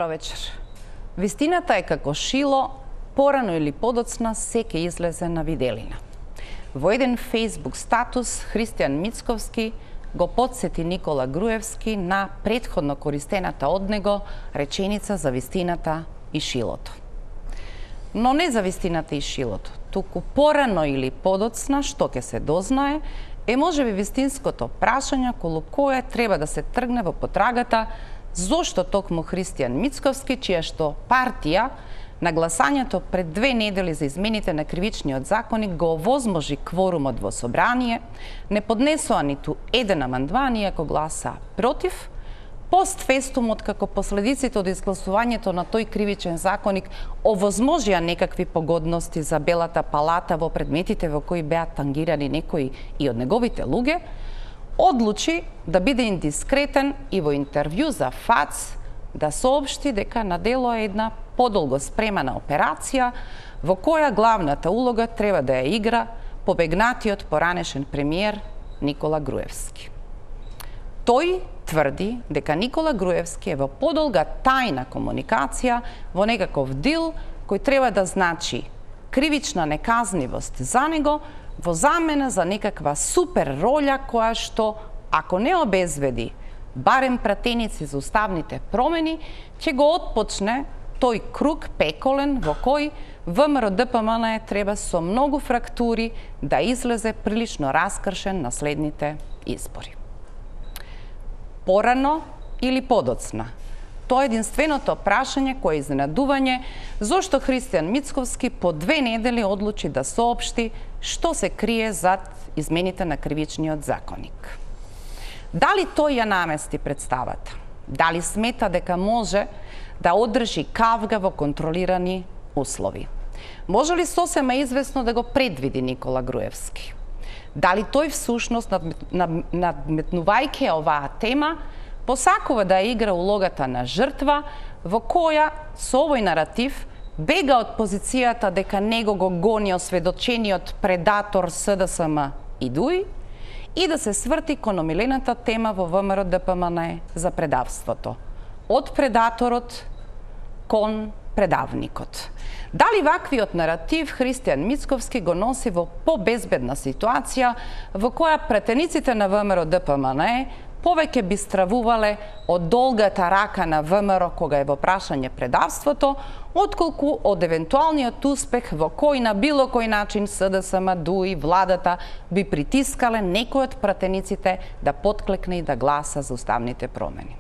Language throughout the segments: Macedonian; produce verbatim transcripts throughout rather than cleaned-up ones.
Добро вечер. Вистината е како шило, порано или подоцна се ќе излезе на виделина. Во еден Facebook статус Христијан Мицковски го подсети Никола Груевски на претходно користената од него реченица за вистината и шилото. Но не за вистината и шилото, туку порано или подоцна, што ќе се дознае, е можеби вистинското прашање околу кое треба да се тргне во потрагата зошто токму Христијан Мицковски, чија што партија на гласањето пред две недели за измените на кривичниот законник го овозможи кворумот во собрание, не поднесоа ниту еден амандман, иако гласа против, постфестумот како последиците од изгласувањето на тој кривичен законник овозможија некакви погодности за Белата палата во предметите во кои беа тангирани некои и од неговите луѓе, одлучи да биде индискретен и во интервју за ФАЦ да соопшти дека на дело е една подолго спремана операција во која главната улога треба да ја игра побегнатиот поранешен премиер Никола Груевски. Тој тврди дека Никола Груевски е во подолга тајна комуникација во некаков дил кој треба да значи кривична неказнивост за него во замена за некаква супер роља која што, ако не обезведи барем пратеници за уставните промени, ќе го отпочне тој круг пеколен во кој ВМРО-ДПМН треба со многу фрактури да излезе прилично раскршен на следните избори. Порано или подоцна? Тоа е единственото прашање кое е изненадување зошто Христијан Мицковски по две недели одлучи да соопшти што се крие зад измените на кривичниот законник. Дали тој ја намести представата? Дали смета дека може да одржи кавга во контролирани услови? Може ли сосема известно да го предвиди Никола Груевски? Дали тој всушност, надметнувајќи оваа тема, посакува да игра улогата на жртва, во која со овој наратив бега од позицијата дека него го гони осведочениот предатор СДСМ и ДУИ и да се сврти кон омилената тема во ВМРО-ДПМН за предавството. Од предаторот кон предавникот. Дали ваквиот наратив Христијан Мицковски го носи во побезбедна ситуација во која претениците на ВМРО-ДПМН повеќе би стравувале од долгата рака на ВМРО кога е во прашање предавството, отколку од евентуалниот успех во кој на било кој начин СДСМ, ДУИ, владата би притискале некој од пратениците да потклекне и да гласа за уставните промени.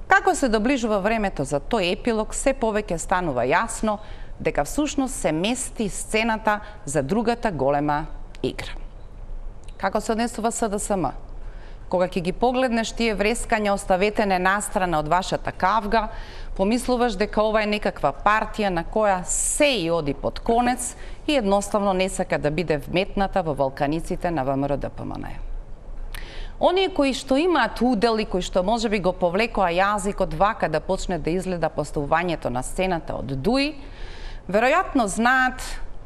Како се доближува времето за тој епилог, се повеќе станува јасно дека всушност се мести сцената за другата голема игра. Како се однесува СДСМ? Кога ќе ги погледнеш тие врескања, оставете не настрана од вашата кавга, помислуваш дека ова е некаква партија на која се и оди под конец и едноставно не сака да биде вметната во валканиците на ВМРО-ДПМН. Оние кои што имаат удел и кои што можеби го повлекоа јазикот вака да почне да изгледа поставувањето на сцената од ДУИ, веројатно знаат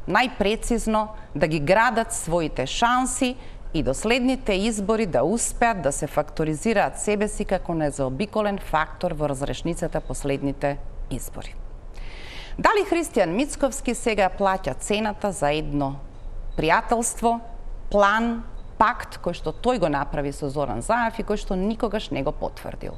најпрецизно да ги градат своите шанси и до следните избори да успеат да се факторизираат себе си како незаобиколен фактор во разрешницата последните избори. Дали Христијан Мицковски сега плаќа цената за едно пријателство, план, пакт кој што тој го направи со Зоран Заев и кој што никогаш не го потврдил?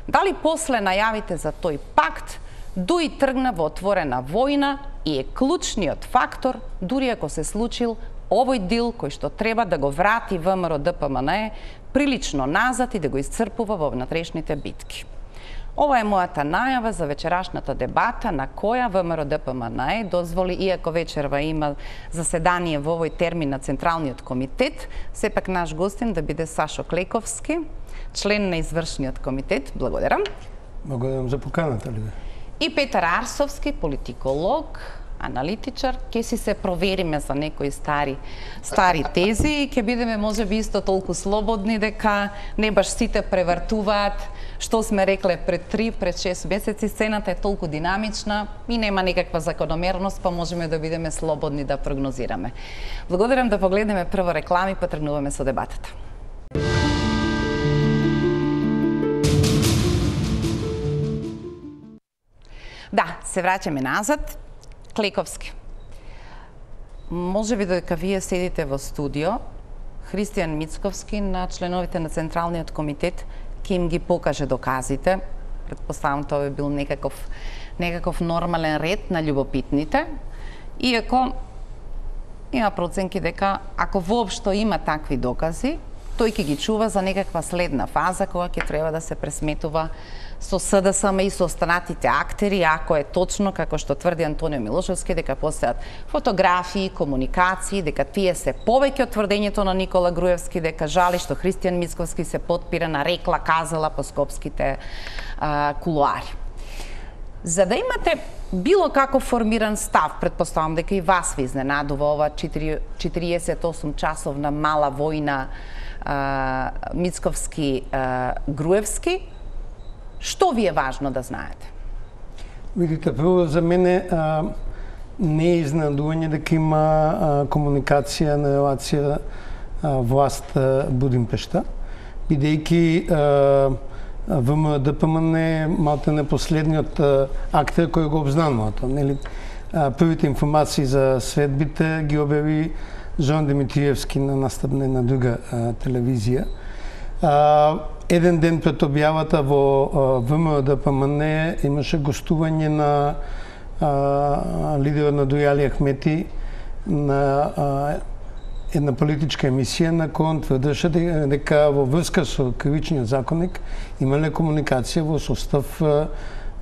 Дали после најавите за тој пакт ДУИ тргна во отворена војна и е клучниот фактор, дури ако се случил овој дил кој што треба да го врати ВМРО-ДПМН прилично назад и да го исцрпува во внатрешните битки. Ова е мојата најава за вечерашната дебата на која ВМРО-ДПМН дозволи, иако вечерва има заседание во овој термин на Централниот комитет, сепак наш гостин да биде Сашо Клековски, член на извршниот комитет. Благодарам. Благодарам за поканата, Лида. И Петар Арсовски, политиколог, аналитичар, ќе си се провериме за некои стари стари тези и ќе бидеме можеби исто толку слободни дека не баш сите превртуваат што сме рекле пред три, пред шест месеци. Сцената е толку динамична и нема некаква закономерност, па можеме да бидеме слободни да прогнозираме. Благодарам, да погледнеме прво реклами, па тргнуваме со дебатата. Да, се враќаме назад. Клековски. Може би дека вие седите во студио, Христијан Мицковски на членовите на Централниот комитет ќе им ги покаже доказите. Предпоставам тоа би бил некаков некаков нормален ред на љубопитните. Иако има проценки дека ако воопшто има такви докази, тој ќе ги чува за некаква следна фаза кога ќе треба да се пресметува со СДСМ и со останатите актери, ако е точно како што тврди Антонио Милошевски дека постојат фотографии, комуникации, дека тие се повеќе од тврдењето на Никола Груевски дека жали што Христијан Мицковски се потпира на рекла казала по скопските а, кулуари. За да имате било како формиран став, предпоставам дека и вас ви изненадува ова четириесет и осум часовна мала војна а, Мицковски а, Груевски, што ви е важно да знаете? Видите, прво за мене а, не е изненадување дека има а, комуникација на релација а, власт а, Будимпешта, бидејќи ВМРО-ДПМН е малте не последниот а, актер кој го обзнанува тоа. Нели? А, првите информации за средбите ги објави Жон Димитриевски на настапна на друга а, телевизија. А, еден ден пред објавата во ВМРО-ДПМН имаше гостување на а, лидерот на Дујали Ахмети на а, една политичка емисија на која он тврдеше дека во врска со кривичниот законник имале комуникација во состав а,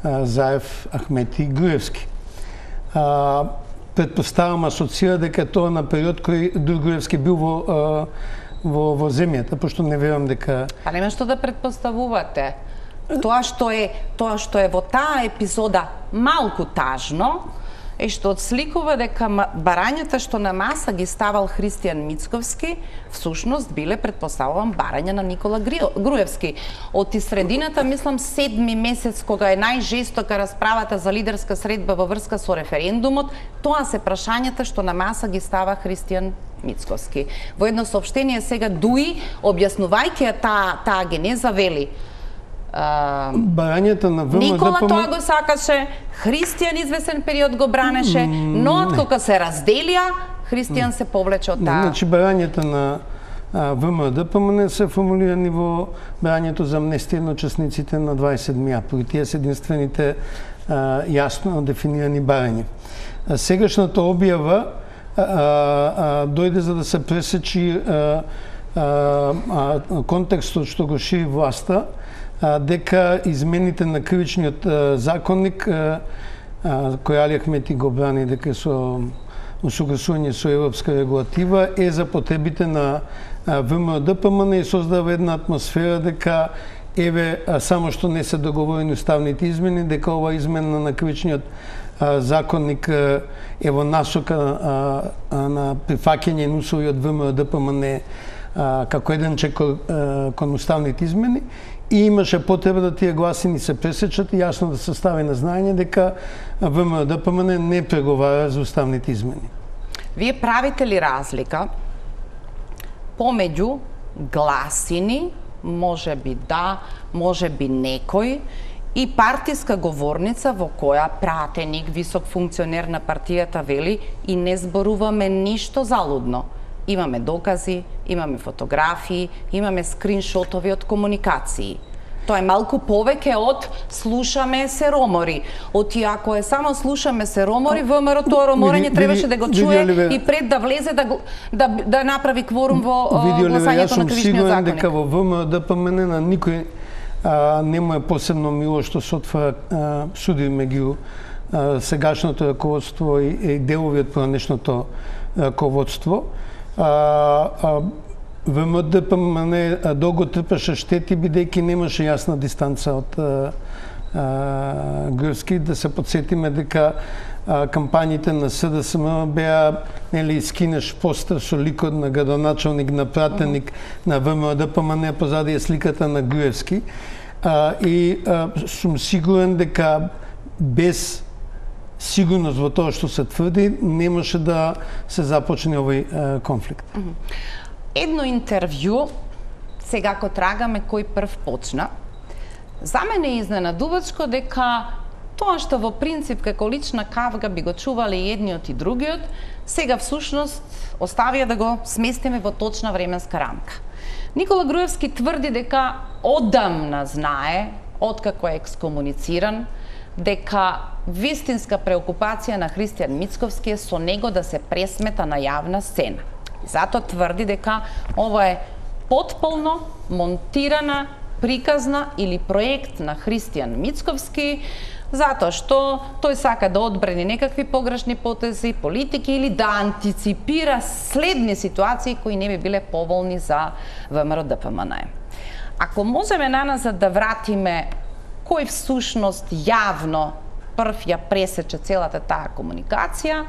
Заев, Ахмети и Груевски. А, предпоставам асоцира дека тоа на период кој Груевски бил во а, во, во земјата, пошто не верувам дека... Па нема што да предпоставувате. Тоа што е, тоа што е во таа епизода малку тажно, е што отсликува дека барањата што на маса ги ставал Христијан Мицковски, всушност биле, предпоставувам, барања на Никола Груевски. Од и средината, мислам, седми месец, кога е најжестока расправата за лидерска средба во врска со референдумот, тоа се прашањата што на маса ги става Христијан Мицковски. Во едно соопштение сега Дуи, објаснувајќи таа таа генеза, вели Uh, барањата на ВМРО Никола тоа го сакаше, Христијан извесен период го бранеше, но откога се разделија, Христијан се повлече од таа. Значи барањата на ВМРО-ДПМН се формулирани во барањето за амнестија на учесниците на дваесет седми април. Тие се единствените а, јасно дефинирани барања. А, сегашната објава а, а, дојде за да се пресечи а, а, а, контекстот што го шири власта, дека измените на кривичниот законник, кој Али Ахмети го брани дека со усогласување со европска регулатива, е за потребите на ВМРО-ДПМН и создава една атмосфера дека еве само што не се договорени уставните измени, дека ова измена на кривичниот законник е во насока на прифаќање на услови од ВМРО-ДПМН како еден чек кон уставните измени. И имаше потреба да тие гласини се пресечат и јасно да се стави на знаење дека ВМРО-ДПМН не преговара за уставните измени. Вие правите ли разлика помеѓу гласини, може би да, може би некој, и партиска говорница во која пратеник, висок функционер на партијата вели и не зборуваме ништо залудно. Имаме докази, имаме фотографии, имаме скриншотови од комуникации. Тоа е малку повеќе од слушаме се ромори. Оти ако е само слушаме се ромори, ВМРО тоа роморење требаше да го чуе и пред да влезе да да, да направи кворум во гласањето на кривичниот законник. Дека во ВМРО-ДПМН на никој а, не му е посебно мило што се отвара суди меѓу сегашното раководство и, и делови од пранешното раководство. А, а, ВМРО-ДПМН долго трпеше штети, бидејќи немаше јасна дистанца од а, а, Груевски. Да се подсетиме дека а, кампањите на СДСМ беа, нели, скинеш постер со ликот на градоначалник, на пратеник uh -huh. на ВМРО-ДПМН, позади е сликата на Груевски. А, и а, сум сигурен дека без сигурност во тоа што се тврди, немаше да се започне овој е, конфликт. Едно интервју, сега ко трагаме кој прв почна, за мене е изненадувачко дека Тоа што во принцип како лична кавга би го чувале едниот и другиот, сега всушност оставија да го сместиме во точна временска рамка. Никола Груевски тврди дека одамна знае, откако е екскомунициран, дека вистинска преокупација на Христијан Мицковски е со него да се пресмета на јавна сцена. И затоа тврди дека ова е потполно монтирана, приказна или проект на Христијан Мицковски, затоа што тој сака да одбрани некакви погрешни потези, политики или да антиципира следни ситуации кои не би биле поволни за ВМРО Д П М Н. Ако можеме наназад да вратиме кој всушност јавно прв ја пресече целата таа комуникација,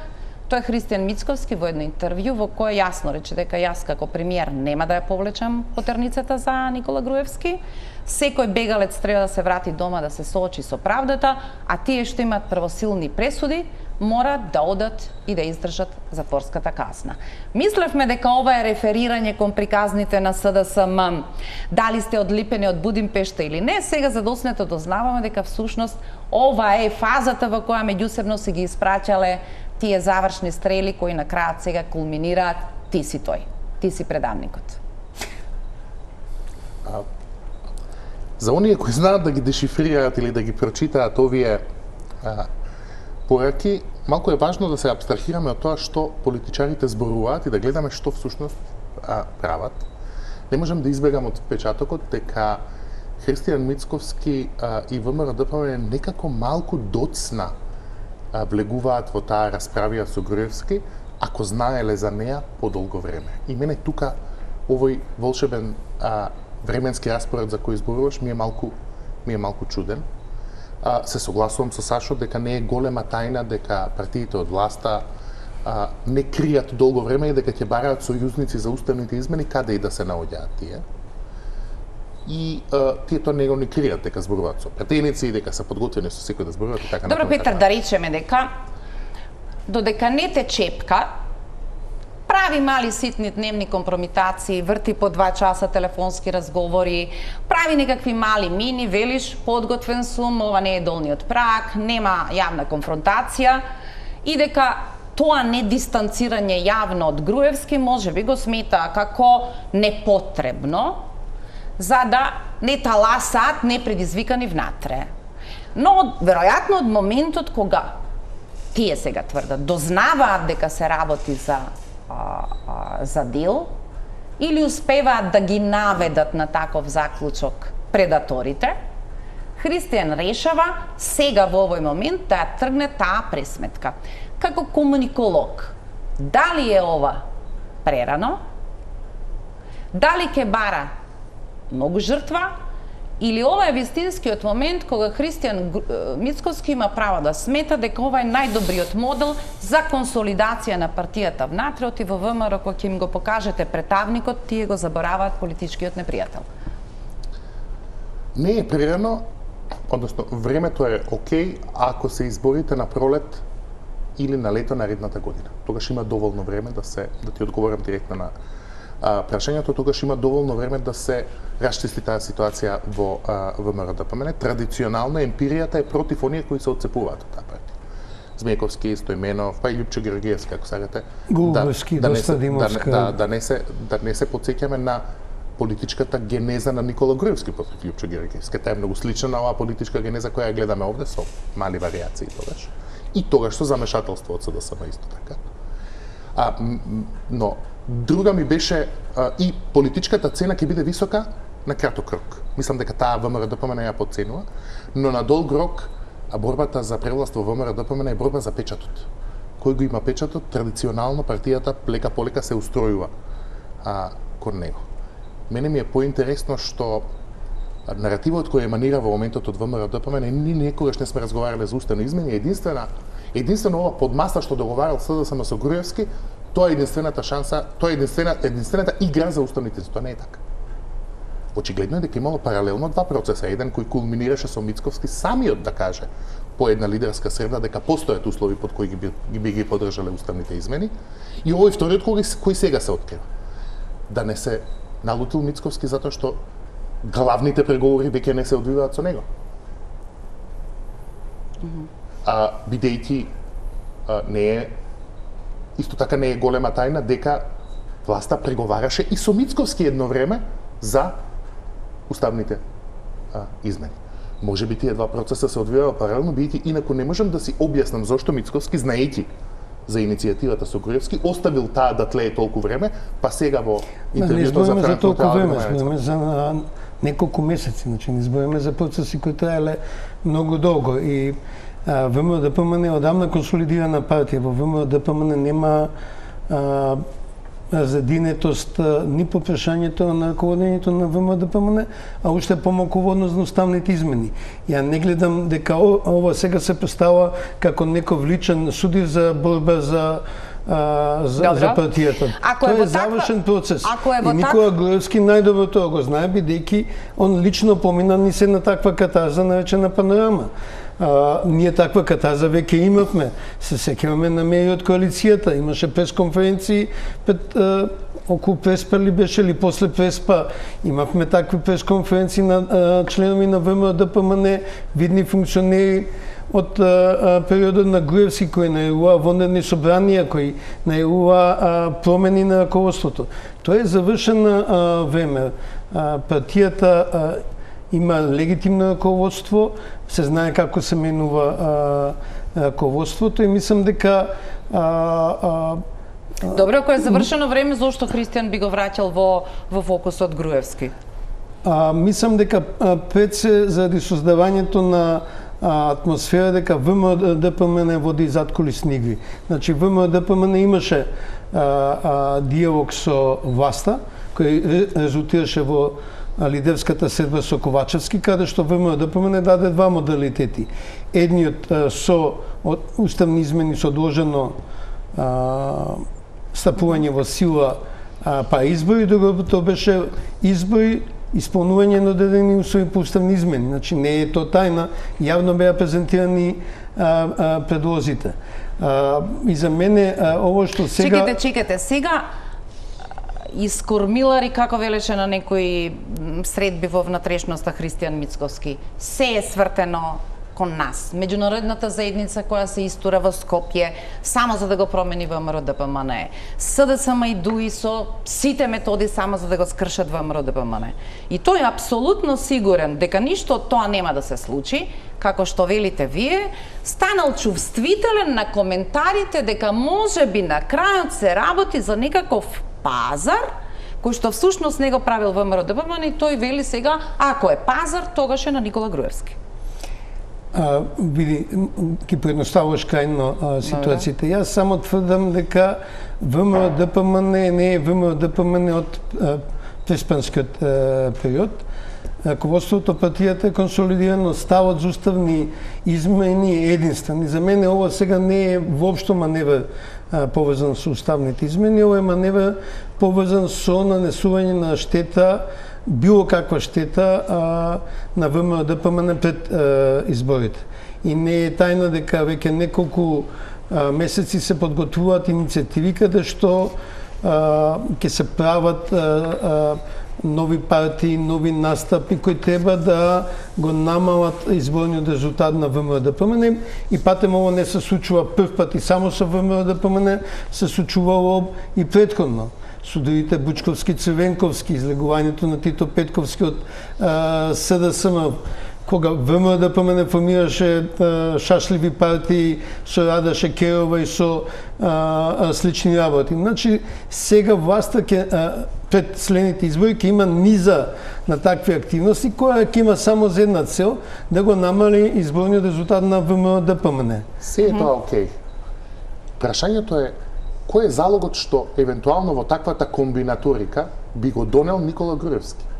тоа е Христијан Мицковски во едно интервју во кое јасно рече дека јас како премиер нема да ја повлечам потерницата за Никола Груевски. Секој бегалец треба да се врати дома да се соочи со правдата, а тие што имаат правосилни пресуди мора да одат и да издржат затворската казна. Мислевме дека ова е реферирање кон приказните на С Д С М, дали сте одлипени од Будимпешта или не, сега задоснето дознаваме дека всушност ова е фазата во која меѓусебно се ги испраќале тие завршни стрели кои на крајот сега кулминираат: ти си тој, ти си предавникот. А, за оние кои знаат да ги дешифрираат или да ги прочитаат овие а, пораки, малку е важно да се абстрахираме од тоа што политичарите зборуваат и да гледаме што всушност а, прават. Не можам да избегам од впечатокот дека Христијан Мицковски а, и ВМРО Д П М Н некако малку доцна а, влегуваат во таа расправија со Груевски, ако знаеле за неа подолго време. И мене тука овој волшебен а, временски распоред за кој зборуваш ми е малку ми е малку чуден. А, се согласувам со Сашо дека не е голема тајна дека партиите од власта а, не кријат долго време и дека ќе бараат сојузници за уставните измени каде и да се наоѓаат тие. И а, тие тоа него не кријат, дека зборуваат со претеници, дека се подготвени со секој да зборуваат и така. Добро, Петар, да речеме дека додека не те чепка, прави мали ситни дневни компромитации, врти по два часа телефонски разговори, прави некакви мали мини, велиш подготвен сум, ова не е долниот праг, нема јавна конфронтација и дека тоа недистанцирање јавно од Груевски може би го смета како непотребно, за да не таласаат непредизвикани внатре. Но, веројатно, од моментот кога тие сега тврдат, дознаваат дека се работи за А, а, за дел, или успеваат да ги наведат на таков заклучок предаторите, Христијан решава сега во овој момент да ја тргне таа пресметка. Како комуниколог, дали е ова прерано, дали ќе бара многу жртва, или ова е вистинскиот момент кога Христијан Мицковски има право да смета дека ова е најдобриот модел за консолидација на партијата внатре, оти во ВМРО кога ќе им го покажете претавникот, тие го забораваат политичкиот непријател. Не е прерано, односно времето е окей ако се изборите на пролет или на лето наредната година. Тогаш има доволно време да се да ти одговорам директно на а, прашањето, тогаш има доволно време да се расчисти таа ситуација во ВМРО Д П М Н. Традиционално емпиријата е против оние кои се отцепуваат од таа партија. Змејковски, Стојменов, па и Љупчо Георгиевски, ако сакате. Гуловски, да, да, доста Димовска. Да, да, да, не се да не се потсеќаме на политичката генеза на Никола Груевски против Љупчо Георгиевски. Таа е многу слична на оваа политичка генеза која ја гледаме овде со мали варијации тогаш. И тогаш со замешателство од С Д С М исто така. А, но друга ми беше а, и политичката цена ќе биде висока на краток рок. Мислам дека таа ВМРО Д П М Н ја потценува, но на долг рок а борбата за превласт во ВМРО Д П М Н е борба за печатот. Кој го има печатот, традиционално партијата лека полека се устројува а, кон него. Мене ми е поинтересно што наративот кој еманира во моментот од ВМРО Д П М Н, ние никогаш не сме разговарале за уставни измени, единствена единствено ова подмаса што договарал С Д С М со Груевски, тоа е единствената шанса, тоа е единствена, единствената игра за уставните, тоа не е така. Очигледно е дека имало паралелно два процеса, еден кој кулминираше со Мицковски самиот да каже по една лидерска среда дека постојат услови под кои ги би ги, би ги поддржале уставните измени, и овој вториот кој, кој сега се открива. Да не се налутил Мицковски затоа што главните преговори веќе не се одвиваат со него. А, бидејќи а, не е, исто така не е голема тајна дека власта преговараше и со Мицковски едно време за уставните а, измени. Може би тие два процеса се одвиваа паралелно, бидејќи инаку не можам да си објаснам зошто Мицковски, знаејќи за иницијативата со Груевски, оставил таа да тлее толку време, па сега во интервјуто за за толку време, Франкфурт збориме за неколку месеци, значи не збориме за процеси кои траеле многу долго и ВМРО-ДПМН е одамна консолидирана партија. Во ВМРО-ДПМН нема а, задинетост ни по прашањето на раководењето на ВМРО-ДПМН, а уште помалку во однос на уставните измени. Ја не гледам дека ова сега се представа како некој личен судир за борба за а, за, за партијата. Ако Тоа е е завршен процес. Ако е и Никола Груевски најдобро тоа го знае, бидејќи он лично помина ни се на таква катарза наречена Панорама. А, ние таква катарза веќе имавме. Се сеќаваме на меји од коалицијата. Имаше пресконференции пред а, околу Преспа ли беше ли после Преспа. Имавме такви пресконференции на а, членови на ВМРО-ДПМН, видни функционери од а, а, периодот на Груевски кој најавува вонредни собранија, кој најавува промени на раководството. Тоа е завршена а, време. А, партијата а, има легитимно раководство, се знае како се менува а, раководството и мислам дека а, а, Добро, ако е завршено време, зошто Христијан би го враќал во во фокусот Груевски? А, мислам дека а, пред се заради создавањето на а, атмосфера дека ВМРО-ДПМН води задкулисни игри. Значи ВМРО-ДПМН имаше а, а, диалог со власта кој резултираше во лидерската седба со Ковачевски, каде што ВМРО-ДПМН даде два модалитети. Едниот а, со од уставни измени со одложено а, стапување во сила а, па избори, другото беше избори исполнување на одредени услови по уставни измени. Значи не е тоа тајна, јавно беа презентирани а, а, предлозите. А, и за мене а, ово што сега... Чекайте, чекайте, сега искормилари, како велеше на некои средби во внатрешноста Христијан Мицковски, се е свртено кон нас. Меѓународната заедница која се истура во Скопје само за да го промени ВМРО-ДПМН. СДСМ и ДУИ со сите методи само за да го скршат ВМРО-ДПМН. И тој е апсолутно сигурен дека ништо од тоа нема да се случи, како што велите вие, станал чувствителен на коментарите дека може би на крајот се работи за некаков пазар, кој што всушност не го правил ВМРО-ДПМН и тој вели сега, ако е пазар, тогаш е на Никола Груевски. А, види, ки предноставуваш крајно а, ситуацијата. Јас само тврдам дека ВМРО-ДПМН не е ВМРО-ДПМН од а, преспанскиот а, период. Раководството партијата е консолидирано, ставот за уставни измени е единствен. И за мене ова сега не е воопшто маневр а, поврзан со уставните измени, ова е маневр поврзан со нанесување на штета, било каква штета а, на ВМРО-ДПМН пред а, изборите. И не е тајна дека веќе неколку а, месеци се подготвуваат иницијативи каде што ќе се прават а, а, нови партии, нови настапи кои треба да го намалат изборниот резултат на ВМРО-ДПМН и патем ово не се случува прв пат и само со ВМРО-ДПМН, се случувало и претходно. Судовите Бучковски, Црвенковски, излегувањето на Тито Петковски од СДСМ, кога ВМРО-ДПМН формираше а, шашливи партии со Рада Шекерова и со а, а, слични работи. Значи, сега власта ке, а, пред следните избори ќе има низа на такви активности, која ќе има само за една цел, да го намали изборниот резултат на ВМРО-ДПМН. Се е тоа окей. Прашањето е, кој е залогот што евентуално во таквата комбинаторика би го донел Никола Груевски?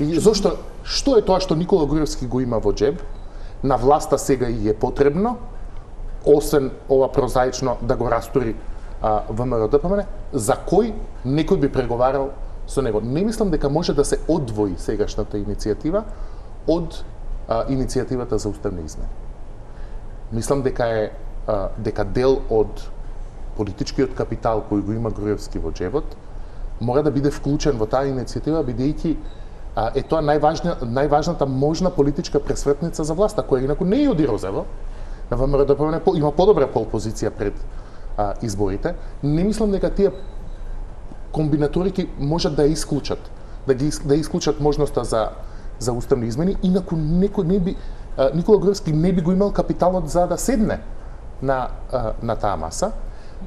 И зошто, што е тоа што Никола Груевски го има во джеб, на власта сега и е потребно, освен ова прозаично да го растури а, ВМРО-ДПМН, за кој некој би преговарал со него? Не мислам дека може да се одвои сегашната иницијатива од а, иницијативата за уставни измени. Мислам дека е а, дека дел од политичкиот капитал кој го има Груевски во джебот мора да биде вклучен во таа иницијатива, бидејќи а, е тоа најважна, најважната можна политичка пресветница за власта, која инаку не ја оди Розево. На ВМРО ДПМН има подобра пол позиција пред а, изборите. Не мислам дека тие комбинаторики можат да ја исклучат, да ги да исклучат можноста за за уставни измени, инаку некој не би а, Никола Груевски не би го имал капиталот за да седне на а, на таа маса.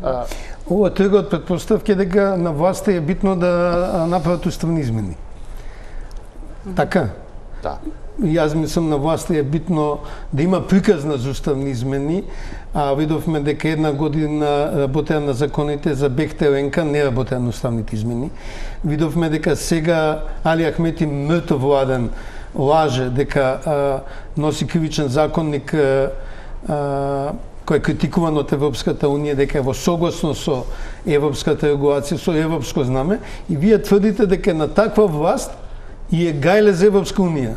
А, Ова трга од претпоставки дека на власта е битно да направат уставни измени. Така? да. Јас мислам на власта е битно да има приказна за уставни измени, а видовме дека една година работеа на законите за Бехтеленка, не работеа на уставните измени. Видовме дека сега Али Ахмети мртов владен лаже дека а, носи кривичен законник а, а, кој е критикуван од Европската унија, дека е во согласно со европската регулација, со европско знаме, и вие тврдите дека на таква власт и е гајле за Европска унија.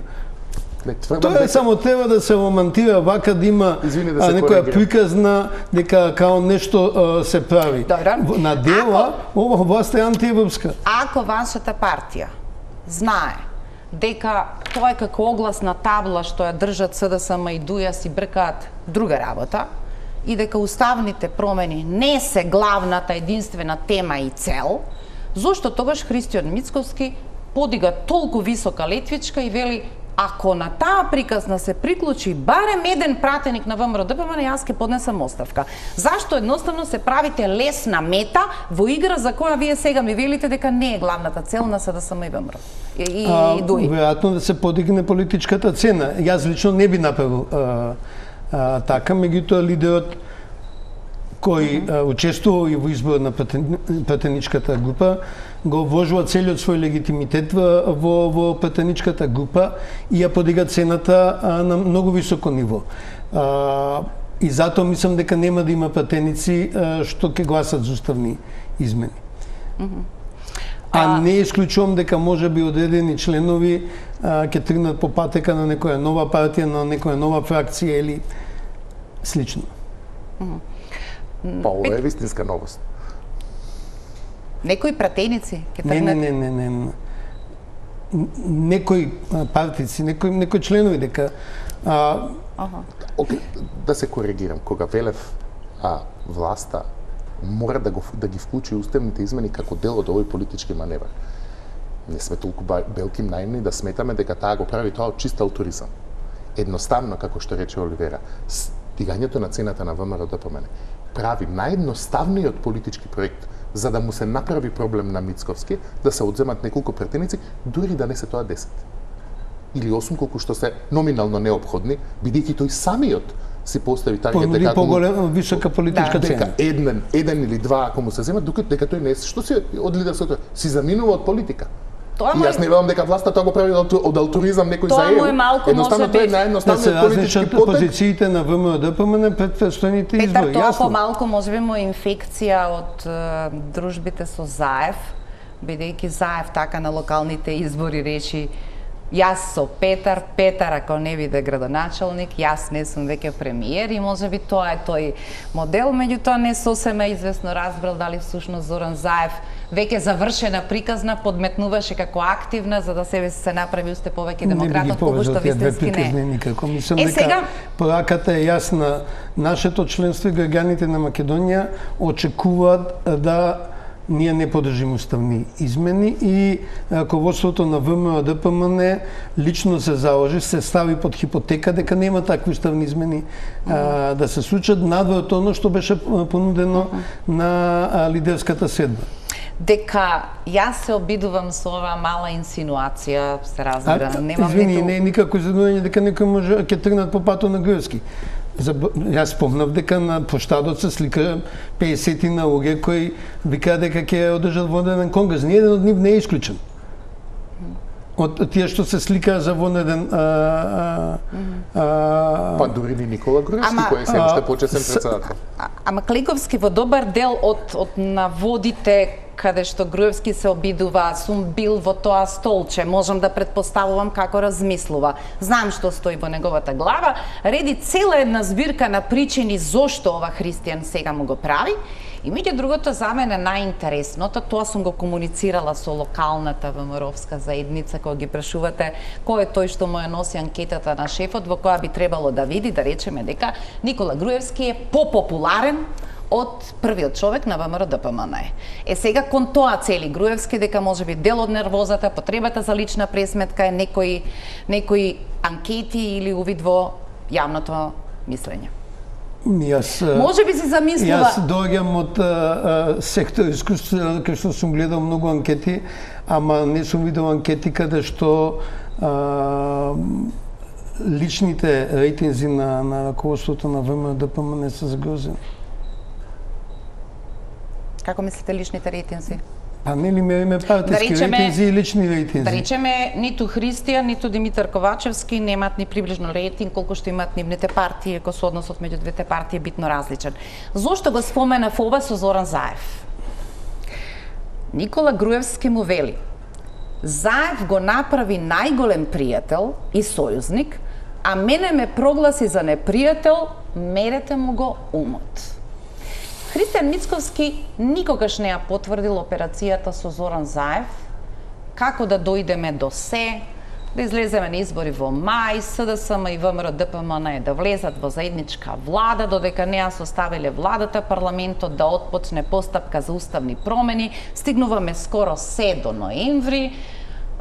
Тоа е дека... само треба да се романтира вака, да има Извини, да а, некоја коригирам. приказна дека као нешто а, се прави. Добро. На дела, ова власт е антиевропска. Ако вашата партија знае дека тоа е како огласна табла што ја држат СДСМ и ДУЈА си бркаат друга работа и дека уставните промени не се главната единствена тема и цел, зошто тогаш Христијан Мицковски подига толку висока летвичка и вели: ако на таа приказна се приклучи барем еден пратеник на ВМРО ДПМН, јас ќе поднесам оставка. Зашто едноставно се правите лесна мета во игра за која вие сега ми велите дека не е главната цел на СДСМ и ВМРО и, и, и ДУИ? Веројатно да се подигне политичката цена. Јас лично не би направил а, а, така, меѓутоа лидерот кој mm -hmm. учествува и во избор на пратеничката група, го вложува целиот свој легитимитет во, во пратеничката група и ја подига цената а, на многу високо ниво. А, и затоа мислам дека нема да има пратеници а, што ќе гласат за уставни измени. Mm -hmm. А, а не исклучувам дека може би одредени членови а, ќе тргнат по патека на некоја нова партија, на некоја нова фракција или слично. Mm -hmm. Па ова е вистинска новост. Некои пратеници ќе Не, тргнат? не, не, не, не. Некои партици, некои некои членови дека а, Аха. Океј, да се коригирам, кога велев а власта мора да го да ги вклучи уставните измени како дел од овој политички маневр. Не сме толку белки наивни да сметаме дека таа го прави тоа од чист алтуризам. Едноставно, како што рече Оливера, стигањето на цената на ВМРО ДПМН прави наједноставниот политички проект за да му се направи проблем на Мицковски, да се одземат неколку пратеници, дури да не се тоа десет. Или осум, колку што се номинално неопходни, бидејќи тој самиот си постави таргет дека поголема висока политичка да, цена. Дека еден, еден или два ако му се земат, докато дека тој не е, што си од лидерството, си заминува од политика. Тоа И јас не велам дека власта тоа го прави од алтуризам некој за Тоа му е малку, едноставно може тој е би, наједноставниот да политички потек. позициите на ВМРО ДПМН пред предстојните Петар, избори, тоа јасно. помалку може би му е инфекција од е, дружбите со Заев, бидејќи Заев така на локалните избори речи: јас со Петар, Петар ако не биде градоначалник, јас не сум веќе премиер, и може би тоа е тој модел, меѓутоа не сосема известно разбрал дали всушност Зоран Заев веќе завршена приказна подметнуваше како активна за да себе се направи уште повеќе демократот, пошто вистински не. Никако. Мислам Е, дека сега... пораката е јасна. Нашето членство и граѓаните на Македонија очекуваат да ние не поддржиме уставни измени и раководството на ВМРО ДПМН лично се заложи, се стави под хипотека дека нема такви уставни измени mm -hmm. а, да се случат надвор оно што беше понудено mm -hmm. на а, лидерската седба. Дека јас се обидувам со оваа мала инсинуација, се разбира, а, немам извини, ниту... не е никако изненадување дека некој може ќе тргнат по патот на Груевски. За, јас спомнав дека на площадот се слика пеесет на луѓе кои викаат дека ќе одржат вонеден конгрес. Ниеден од нив не е исклучен. Од тие што се слика за вонеден а, а, а, Па дури ни Никола Груевски, Ама- кој е се уште а, почесен с- председател. А- Ама Кликовски во добар дел од, од наводите каде што Груевски се обидува, сум бил во тоа столче, можам да предпоставувам како размислува. Знам што стои во неговата глава, реди цела една збирка на причини зошто ова христијан сега му го прави. И меѓу другото, за мене најинтересното, тоа сум го комуницирала со локалната ВМРО-вска заедница, кога ги прашувате кој е тој што му ја носи анкетата на шефот, во која би требало да види, да речеме дека Никола Груевски е попопуларен од првиот човек на ВМРО-ДПМН. Е сега кон тоа цели Груевски дека можеби дел од нервозата, потребата за лична пресметка е некои некои анкети или увид во јавното мислење. Јас, може би си замислува. Јас доаѓам од а, а, сектор искуство, кај што сум гледал многу анкети, ама не сум видел анкети каде што а, личните рейтинзи на, на раководството на ВМРО-ДПМН се загрозени. Како мислите личните рейтинзи? Па нели мериме партиски да речеме, рейтинзи и лични рейтинзи? Да речеме, ниту Христијан, ниту Димитар Ковачевски немаат ни приближно рейтинг колку што имаат нивните партии, ако со односот меѓу двете партии е битно различен. Зошто го споменав ова со Зоран Заев? Никола Груевски му вели: Заев го направи најголем пријател и сојузник, а мене ме прогласи за непријател, мерете му го умот. Христијан Мицковски никогаш не ја потврдил операцијата со Зоран Заев, како да дојдеме до се, да излеземе на избори во мај, СДСМ и ВМРО-ДПМН да влезат во заедничка влада, додека не ја составиле владата, парламентот да отпочне постапка за уставни промени, стигнуваме скоро се до ноември.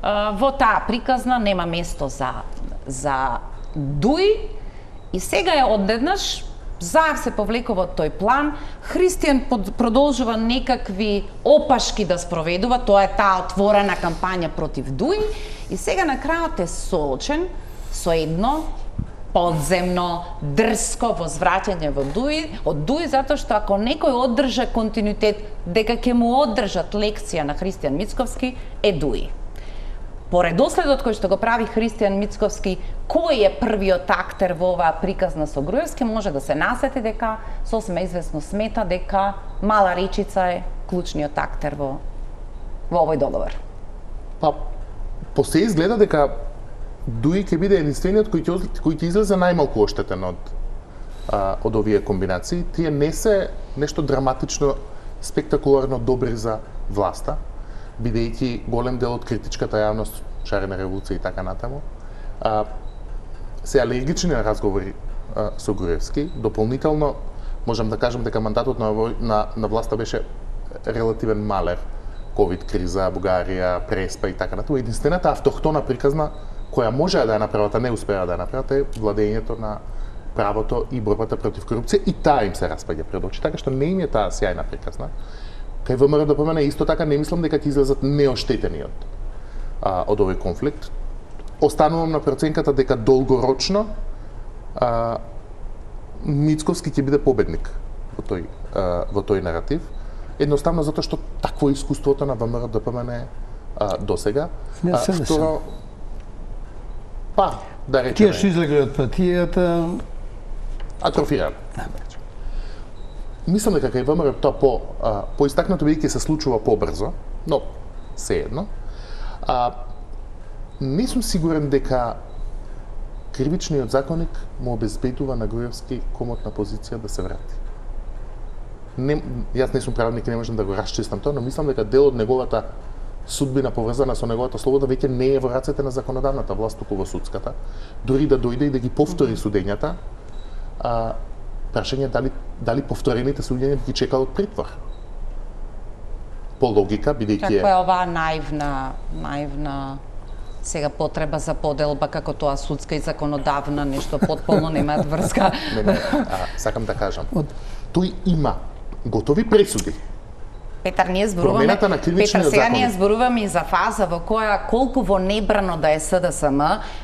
Во таа приказна нема место за, за Дуј и сега е одеднаш Заев се повлекува од тој план, Христијан продолжува некакви опашки да спроведува, тоа е таа отворена кампања против Дуј и сега на крајот е соочен со едно подземно, дрско возвраќање во Дуј, од Дуј затоа што ако некој оддржа континуитет дека ќе му оддржат лекција на Христијан Мицковски е Дуј. По редоследот кој што го прави Христијан Мицковски, кој е првиот актер во оваа приказна со Груевски, може да се насети дека сосема известно смета дека Мала Речица е клучниот актер во во овој договор. Па по се изгледа дека Дуј ќе биде единствениот кој ќе кој ќе излезе најмалку оштетен од а, од овие комбинации. Тие не се нешто драматично, спектакуларно добри за власта, бидејќи голем дел од критичката јавност, шарена револуција и така натаму, а, се алергични на разговори а, со Груевски. Дополнително можам да кажам дека мандатот на, на, на власта беше релативен малер. ковид криза, Бугарија, Преспа и така натаму. Единствената автохтона приказна која може да ја направат, а не успеа да ја направат, е владењето на правото и борбата против корупција, и таа им се распаѓа пред очи, така што не им е таа сјајна приказна. Кај ВМРО-ДПМН исто така не мислам дека ќе излезат неоштетени од, а, од овој конфликт. Останувам на проценката дека долгорочно а, Мицковски ќе биде победник во тој, а, во тој наратив. Едноставно затоа што такво искуството на ВМРО-ДПМН а, досега. Не се второ, па, да речеме, тие што излегле од партијата атрофирани. Мислам дека кај ВМРО тоа по а, поистакнато бидејќи се случува побрзо, но сеедно. А, не сум сигурен дека кривичниот законник му обезбедува на Груевски комотна позиција да се врати. Не, јас не сум правник и не можам да го расчистам тоа, но мислам дека дел од неговата судбина поврзана со неговата слобода веќе не е во рацете на законодавната власт, туку во судската. Дури да дојде и да ги повтори судењата, а, прашање дали дали повторените судења ги чекаат од притвор. По логика, бидејќи е... Каква е оваа наивна, наивна сега потреба за поделба како тоа судска и законодавна, нешто потполно немаат врска. Не, не, а, сакам да кажам. Тој има готови пресуди. Петар, ние зборуваме, Петар, сега ние зборуваме и за фаза во која колку во небрано да е СДСМ,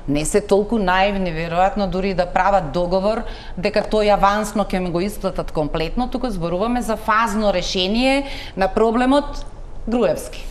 не се толку наивни, веројатно дури да прават договор дека тој авансно ќе го исплатат комплетно, туку зборуваме за фазно решение на проблемот Груевски.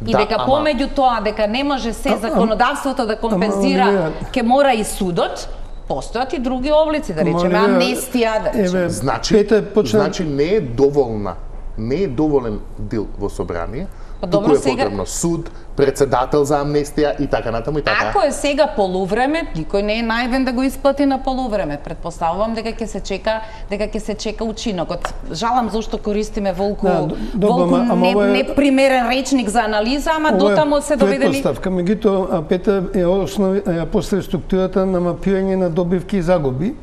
И да, дека ама... помеѓу тоа дека не може се законодавството да компензира, ќе мора и судот, постојат и други облици, да речеме амнестија, да речеме. Значи, почна... значи не е доволна не е доволен дел во собрание, Па туку добро, е сега- потребно суд, председател за амнестија и така натаму и така. Ако е сега полувреме, никој не е највен да го исплати на полувреме. Предпоставувам дека ќе се чека, дека ќе се чека учинокот. Жалам зашто користиме волку, Да, д- добро, волку ама- ама не, ова е- непримерен речник за анализа, ама Ова е дотамо се доведени. Предпоставка, меѓутоа Петар е основи е после структурата на мапирање на добивки и загуби.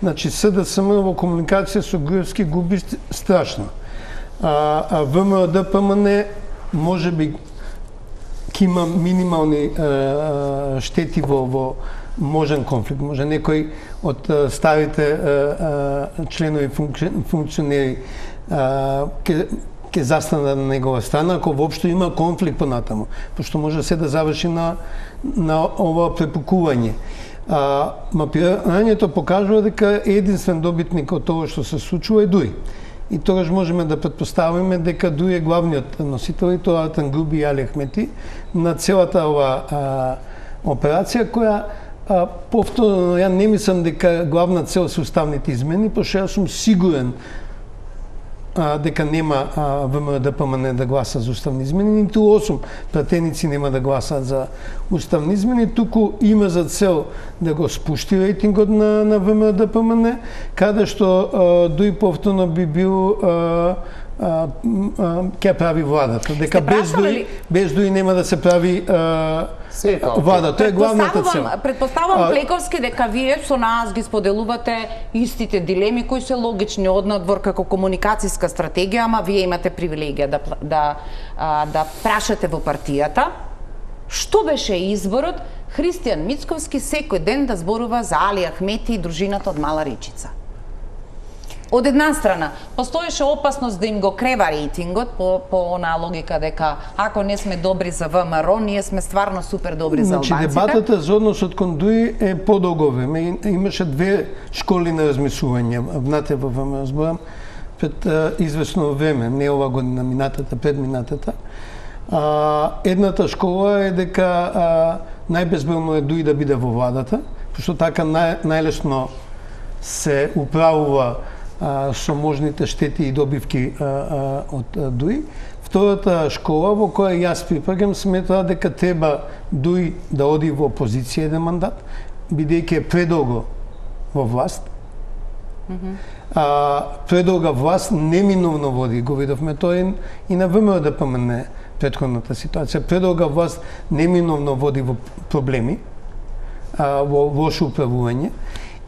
Значи СДСМ во комуникација со Груевски губи ст- страшно. А, а ВМРО-ДПМН може би ќе има минимални а, а, штети во, во можен конфликт. Може некој од а, старите а, а, членови функци- функционери а, ке, ке застана на негова страна, ако воопшто има конфликт понатаму, пошто може се да заврши на, на ова препукување. А, мапирањето покажува дека единствен добитник од тоа што се случува е Дуј. И тогаш можеме да предпоставиме дека Дуј е главниот носител и тоа Артан Груби и Али Ахмети на целата ова а, операција која а, повторно ја не мислам дека главна цел се уставните измени, пошто јас сум сигурен а, дека нема ВМРО-ДПМН да гласа за уставни измени, ниту осум пратеници нема да гласаат за уставни измени, туку има за цел да го спушти рейтингот на, на ВМРО-ДПМН, каде што а, Дуј повторно би бил а, а, а, ќе прави владата, дека Сте без прашале Дуј, ли? без Дуј нема да се прави а, Се е тоа, окей. влада, тоа е главната цел. Предпоставувам, предпоставувам А, Плековски дека вие со нас ги споделувате истите дилеми кои се логични од надвор како комуникацијска стратегија, ама вие имате привилегија да пла- да а, да прашате во партијата. Што беше изборот Христијан Мицковски секој ден да зборува за Али Ахмети и дружината од Мала Речица? Од една страна, постоеше опасност да им го крева рейтингот по, по онаа логика дека ако не сме добри за ВМРО, ние сме стварно супер добри за Значи, албанците. дебатата за односот кон Дуј е подолго време. Имаше две школи на размислување. Внатре во ВМРО, зборам, пред а, известно време, не ова година, минатата, предминатата. А, едната школа е дека а, најбезбелно е Дуј да биде во владата, пошто така нај, најлесно се управува а, со можните штети и добивки а, а, од а, Дуј. Втората школа во која јас припаѓам сметра дека треба Дуј да оди во опозиција еден мандат, бидејќи е предолго во власт. Mm-hmm. А, предолга власт неминовно води, го видовме тоа и, и на ВМРО-ДПМН претходната ситуација. Предолга власт неминовно води во проблеми, а, во лошо управување,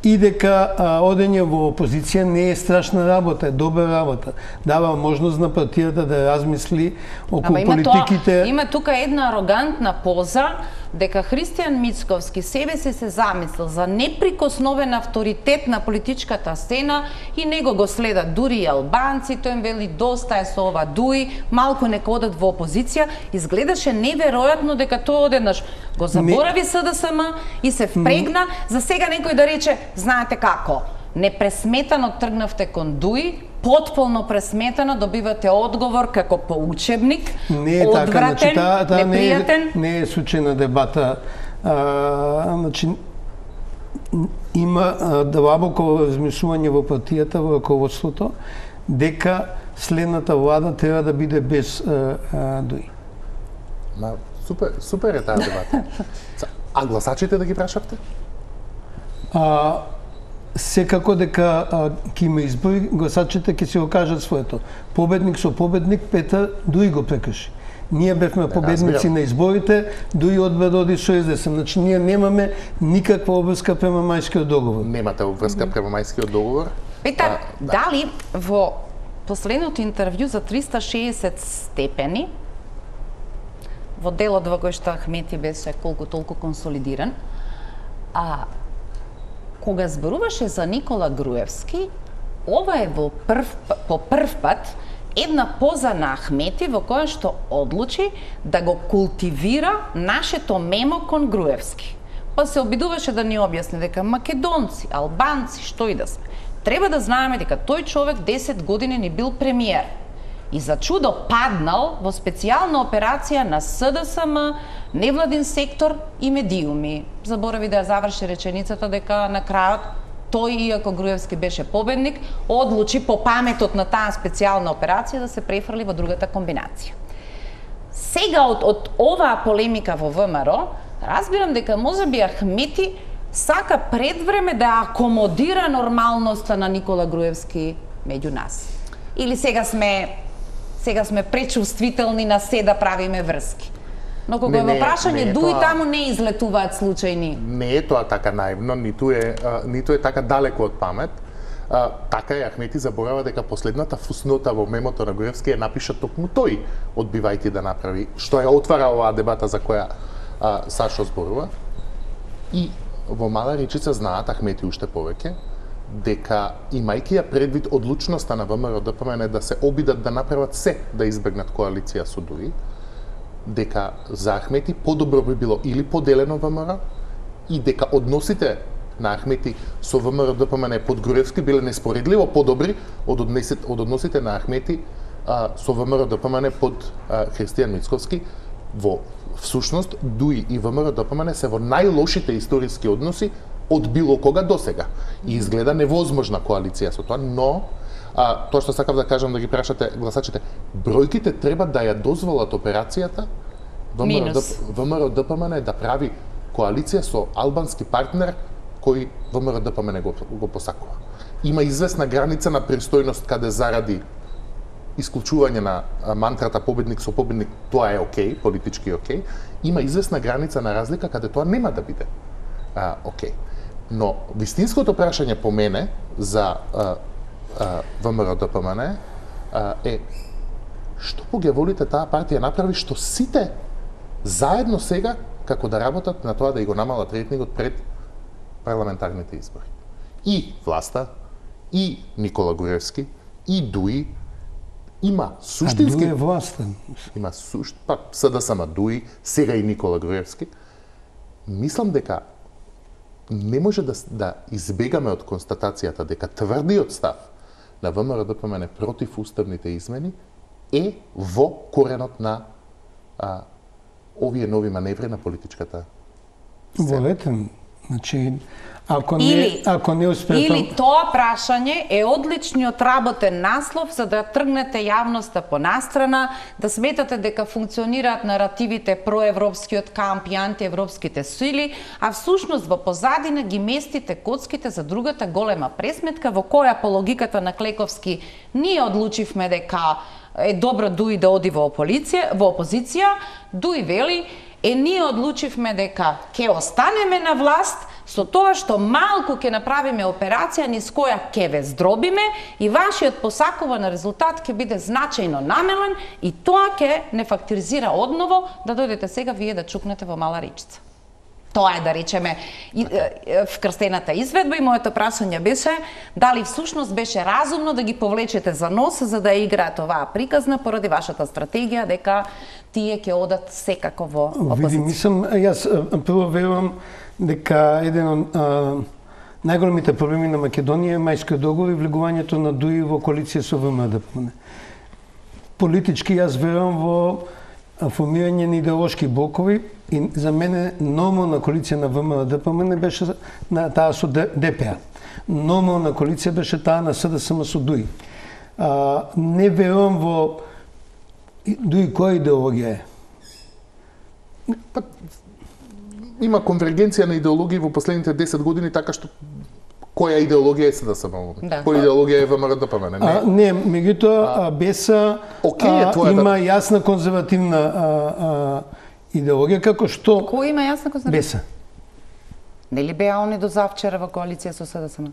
и дека а, одење во опозиција не е страшна работа, е добра работа. Дава можност на партијата да размисли околу Ама има политиките. Тоа, има тука една арогантна поза дека Христијан Мицковски себе си се замислил за неприкосновен авторитет на политичката сцена и него го следат дури и албанци, тој им вели доста е со ова Дуј, малку нека одат во опозиција. Изгледаше неверојатно дека тој одеднаш го заборави СДСМ и се впрегна. За сега некој да рече, знаете како, непресметано тргнавте кон Дуј, потполно пресметано добивате одговор како по учебник, Не е така, значи одвратен, таа та не е, непријатен. не е случајна дебата. А, значи има а, длабоко размислување во партијата, во раководството, дека следната влада треба да биде без а, а, Дуј. Ма, супер, супер е таа дебата. А гласачите да ги прашавте? А, секако дека а, ќе има избори, гласачите ќе се го кажат своето. Победник со победник, Петар Дуј го прекрши. Ние бевме победници разбирам. на изборите, Дуј одбра да оди со СДСМ. Значи ние немаме никаква обврска према Мајскиот договор. Немате обврска према Мајскиот договор? Петар, А, да. дали во последното интервју за триста шеесет степени, во делот во кој што Ахмети беше колку толку консолидиран, а кога зборуваше за Никола Груевски, ова е во прв, по прв пат една поза на Ахмети во која што одлучи да го култивира нашето мемо кон Груевски. Па се обидуваше да ни објасни дека македонци, албанци, што и да сме, треба да знаеме дека тој човек десет години ни бил премиер. И за чудо паднал во специјална операција на СДСМ, невладин сектор и медиуми. Заборави да ја заврши реченицата дека на крајот тој, иако Груевски беше победник, одлучи по паметот на таа специјална операција да се префрли во другата комбинација. Сега од, од оваа полемика во ВМРО, разбирам дека можеби Ахмети сака предвреме да акомодира нормалноста на Никола Груевски меѓу нас. Или сега сме сега сме пречувствителни на се да правиме врски. Но кога е во прашање дуи, таму не излетуваат случајни. Не е тоа така наивно, ниту е, а, ниту е така далеко од памет. А, така е, Ахмети заборава дека последната фуснота во мемото на Груевски е напиша токму тој, одбивајќи да направи, што ја отвара оваа дебата за која а, Сашо зборува. И во Мала Речица знаат Ахмети уште повеќе дека, имајќи ја предвид одлучноста на ВМРО-ДПМН да се обидат да направат се да избегнат коалиција со ДУИ, дека за Ахмети подобро би било или поделено ВМРО и дека односите на Ахмети со ВМРО-ДПМН под Груевски биле неспоредливо подобри од односите, од односите на Ахмети а, со ВМРО-ДПМН под а, Христијан Мицковски. Во всушност ДУИ и ВМРО-ДПМН се во најлошите историски односи од било кога досега. И изгледа невозможна коалиција со тоа, но а, тоа што сакав да кажам, да ги прашате гласачите, бројките треба да ја дозволат операцијата ВМРО-ДПМН да прави коалиција со албански партнер кој ВМРО-ДПМН го, го посакува. Има известна граница на пристојност каде заради исклучување на мантрата победник со победник, тоа е окей, политички окей. Има известна граница на разлика каде тоа нема да биде а, окей. Но вистинското прашање по мене за а, а, ВМРО-ДПМН а, е што по ги волите таа партија направи што сите заедно сега како да работат на тоа да и го намалат рейтингот пред парламентарните избори. И власта, и Никола Груевски, и ДУИ има суштински... А ДУИ е власта. Има сушт... Па, СДСМ, ДУИ, сега и Никола Груевски. Мислам дека не може да, да избегаме од констатацијата дека тврдиот став на ВМРО-ДПМН против уставните измени е во коренот на а, овие нови маневри на политичката сцена. Волете, значи, ако не, или, ако не успеете... Или тоа прашање е одличниот работен наслов за да тргнете јавноста по настрана, да сметате дека функционираат наративите проевропскиот камп и антиевропските сили, а всушност во позадина ги местите коцките за другата голема пресметка во која по логиката на Клековски ние одлучивме дека е добро ДУИ да оди во опозиција, во опозиција, ДУИ вели е ние одлучивме дека ќе останеме на власт со тоа што малку ќе направиме операција низ која ќе ве здробиме и вашиот посакуван резултат ќе биде значајно намален и тоа ќе не фактуризира одново да дојдете сега вие да чукнете во Мала Речица. Тоа е, да речеме, вкрстената изведба и моето прашање беше дали всушност беше разумно да ги повлечете за нос за да играат оваа приказна поради вашата стратегија дека тие ќе одат секако во опозиција. Види, мислам, јас прво верувам дека еден од најголемите проблеми на Македонија е Мајскиот договор и влегувањето на ДУИ во коалиција со ВМРО-ДПМН. Политички јас верувам во формирање на идеолошки блокови и за мене нормална коалиција на ВМРО-ДПМН беше на таа со ДПА. Нормална коалиција беше таа на СДСМ со ДУИ. А, не верувам во ДУИ која идеологија е. Па, има конвергенција на идеологии во последните десет години, така што која идеологија е СДСМ? Да. Која идеологија е ВМРО-ДПМН? Не, а, не меѓутоа БЕСА okay, а, има да... јасна конзервативна а, а, идеологија, како што... Кој има јасна конзервативна? БЕСА. Нели беа они до завчера во коалиција со СДСМ?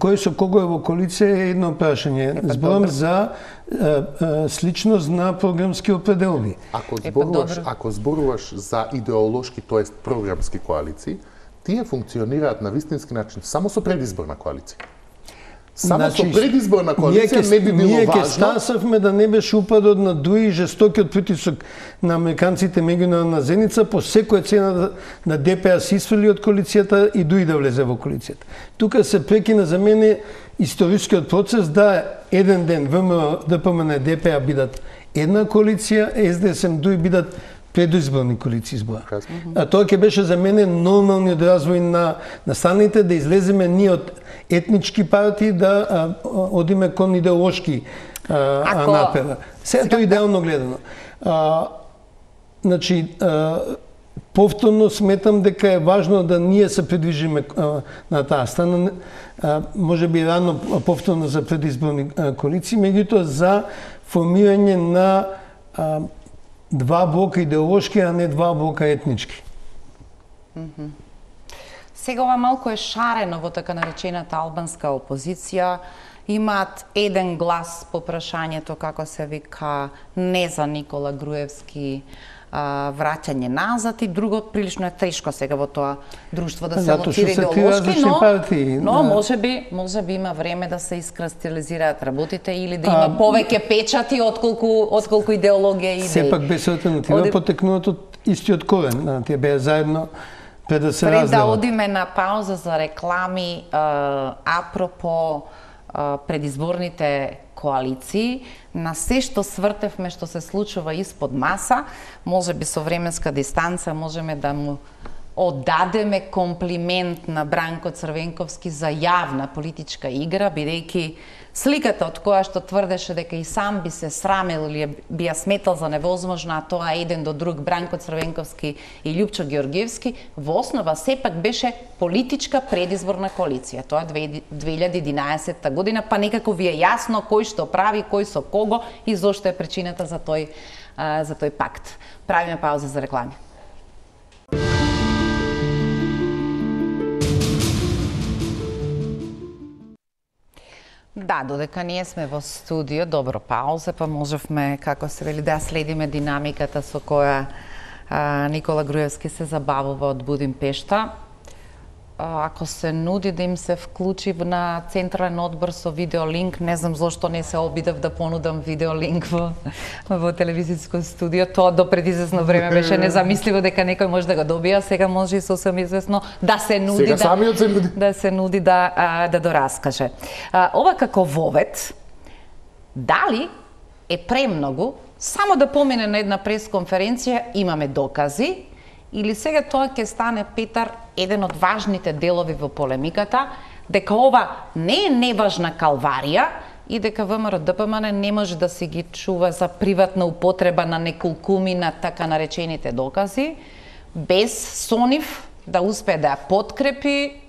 Кој со кого е во коалиција е едно прашање. Зборам за а, а, сличност на програмски определби. Ако зборуваш, ако зборуваш за идеолошки, тоест програмски коалиции, тие функционираат на вистински начин само со предизборна коалиција. Само значи, со предизборна коалиција не би било ние важно. Ние ке стасавме да не беше упадот на ДУИ и жестокиот притисок на американците меѓународна зеница по секоја цена да, на ДПА се исфрли од коалицијата и ДУИ да влезе во коалицијата. Тука се прекина за мене историскиот процес да еден ден ВМРО, ДПМН и ДПА бидат една коалиција, СДСМ, ДУИ бидат предизборни коалиции избора. А тоа ќе беше за мене нормалниот развој на настаните, да излеземе ние од етнички партии да а, одиме кон идеолошки а, Ако... напера. Се тоа идеално гледано. А, значи, а, повторно сметам дека е важно да ние се придвижиме а, на таа страна. А, може би рано повторно за предизборни а, коалиции, меѓутоа за формирање на а, два блока идеолошки, а не два блока етнички. Mm-hmm. Сега ова малку е шарено во така наречената албанска опозиција. Имаат еден глас по прашањето, како се вика, не за Никола Груевски, а, враќање назад, и друго прилично е тешко сега во тоа друштво да се лоцира идеолошки, но, партии, но да. може би, може би има време да се искристализираат работите или да има а, повеќе печати отколку отколку идеологија и идеи. Сепак без алтернатива Оди... потекнуваат од истиот корен, тие беа заедно пред да се разделат. Пред да одиме на пауза за реклами, а, апропо а, предизборните коалиции, на се што свртевме што се случува испод маса, може би со временска дистанца можеме да му оддадеме комплимент на Бранко Црвенковски за јавна политичка игра, бидејќи сликата од која што тврдеше дека и сам би се срамел или би ја сметал за невозможна, а тоа еден до друг Бранко Црвенковски и Љупчо Ѓорѓевски, во основа сепак беше политичка предизборна коалиција. Тоа е две илјади и единаесетта година, па некако ви е јасно кој што прави, кој со кого и зошто е причината за тој, за тој пакт. Правиме пауза за реклами. Да, додека ние сме во студио, добро пауза, па можевме, како се вели, да следиме динамиката со која а, Никола Груевски се забавува од Будимпешта. А, ако се нуди да им се вклучи на Централен одбор со видеолинк, не знам зошто не се обидев да понудам видеолинк во, во телевизиско студио. Тоа до пред известно време беше незамисливо дека некој може да го добија, сега може и сосем известно да се нуди сега да, самиот се нуди. да се нуди да, а, да дораскаже. А, ова како вовет, дали е премногу само да помине на една пресконференција, имаме докази, или сега тоа ќе стане, Петар, еден од важните делови во полемиката, дека ова не е неважна калварија и дека ВМРО Д П М Н не може да си ги чува за приватна употреба на неколкуми на така наречените докази, без со нив да успее да ја подкрепи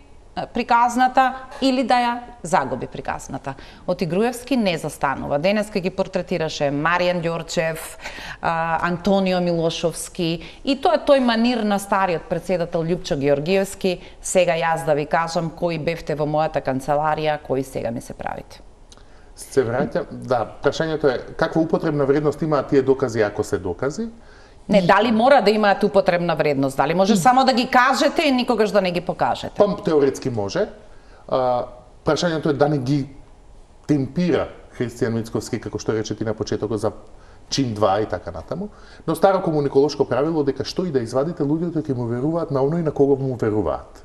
приказната или да ја загуби приказната. Оти Груевски не застанува. Денеска ги портретираше Маријан Ѓорчев, Антонио Милошовски, и тоа е тој манир на стариот председател Љупчо Ѓорѓиевски. Сега јас да ви кажам кои бевте во мојата канцеларија, кои сега ми се правите. Се враќам, да, прашањето е каква употребна вредност имаат тие докази ако се докази? Не, дали мора да имаат употребна вредност? Дали може само да ги кажете и никогаш да не ги покажете? Па, теоретски може. А, прашањето е да не ги темпира Христијан Мицковски, како што рече ти на почетокот, за чин два и така натаму. Но старо комуниколошко правило дека што и да извадите, луѓето ќе му веруваат на оној на кого му веруваат.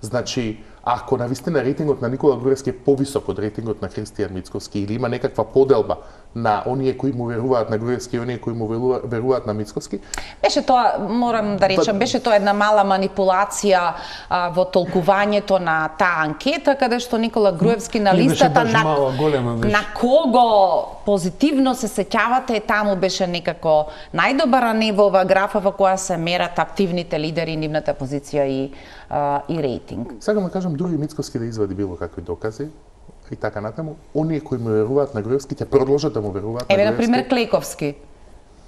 Значи, ако навистина рейтингот на Никола Груевски е повисок од рейтингот на Христијан Мицковски или има некаква поделба на оние кои му веруваат на Груевски и оние кои му веруваат на Мицковски. Беше тоа, морам да речам, беше тоа една мала манипулација а, во толкувањето на таа анкета, каде што Никола Груевски на листата на, мала, на кого позитивно се сеќавате, таму беше некако најдобар, а не во оваа графа во која се мерат активните лидери, нивната позиција и, а, и рейтинг. Сакам да кажам, дури Мицковски да извади било какви докази и така натаму, оние кои му веруваат на Груевски ќе продолжат да му веруваат на Еве, Груевски. например, Клековски.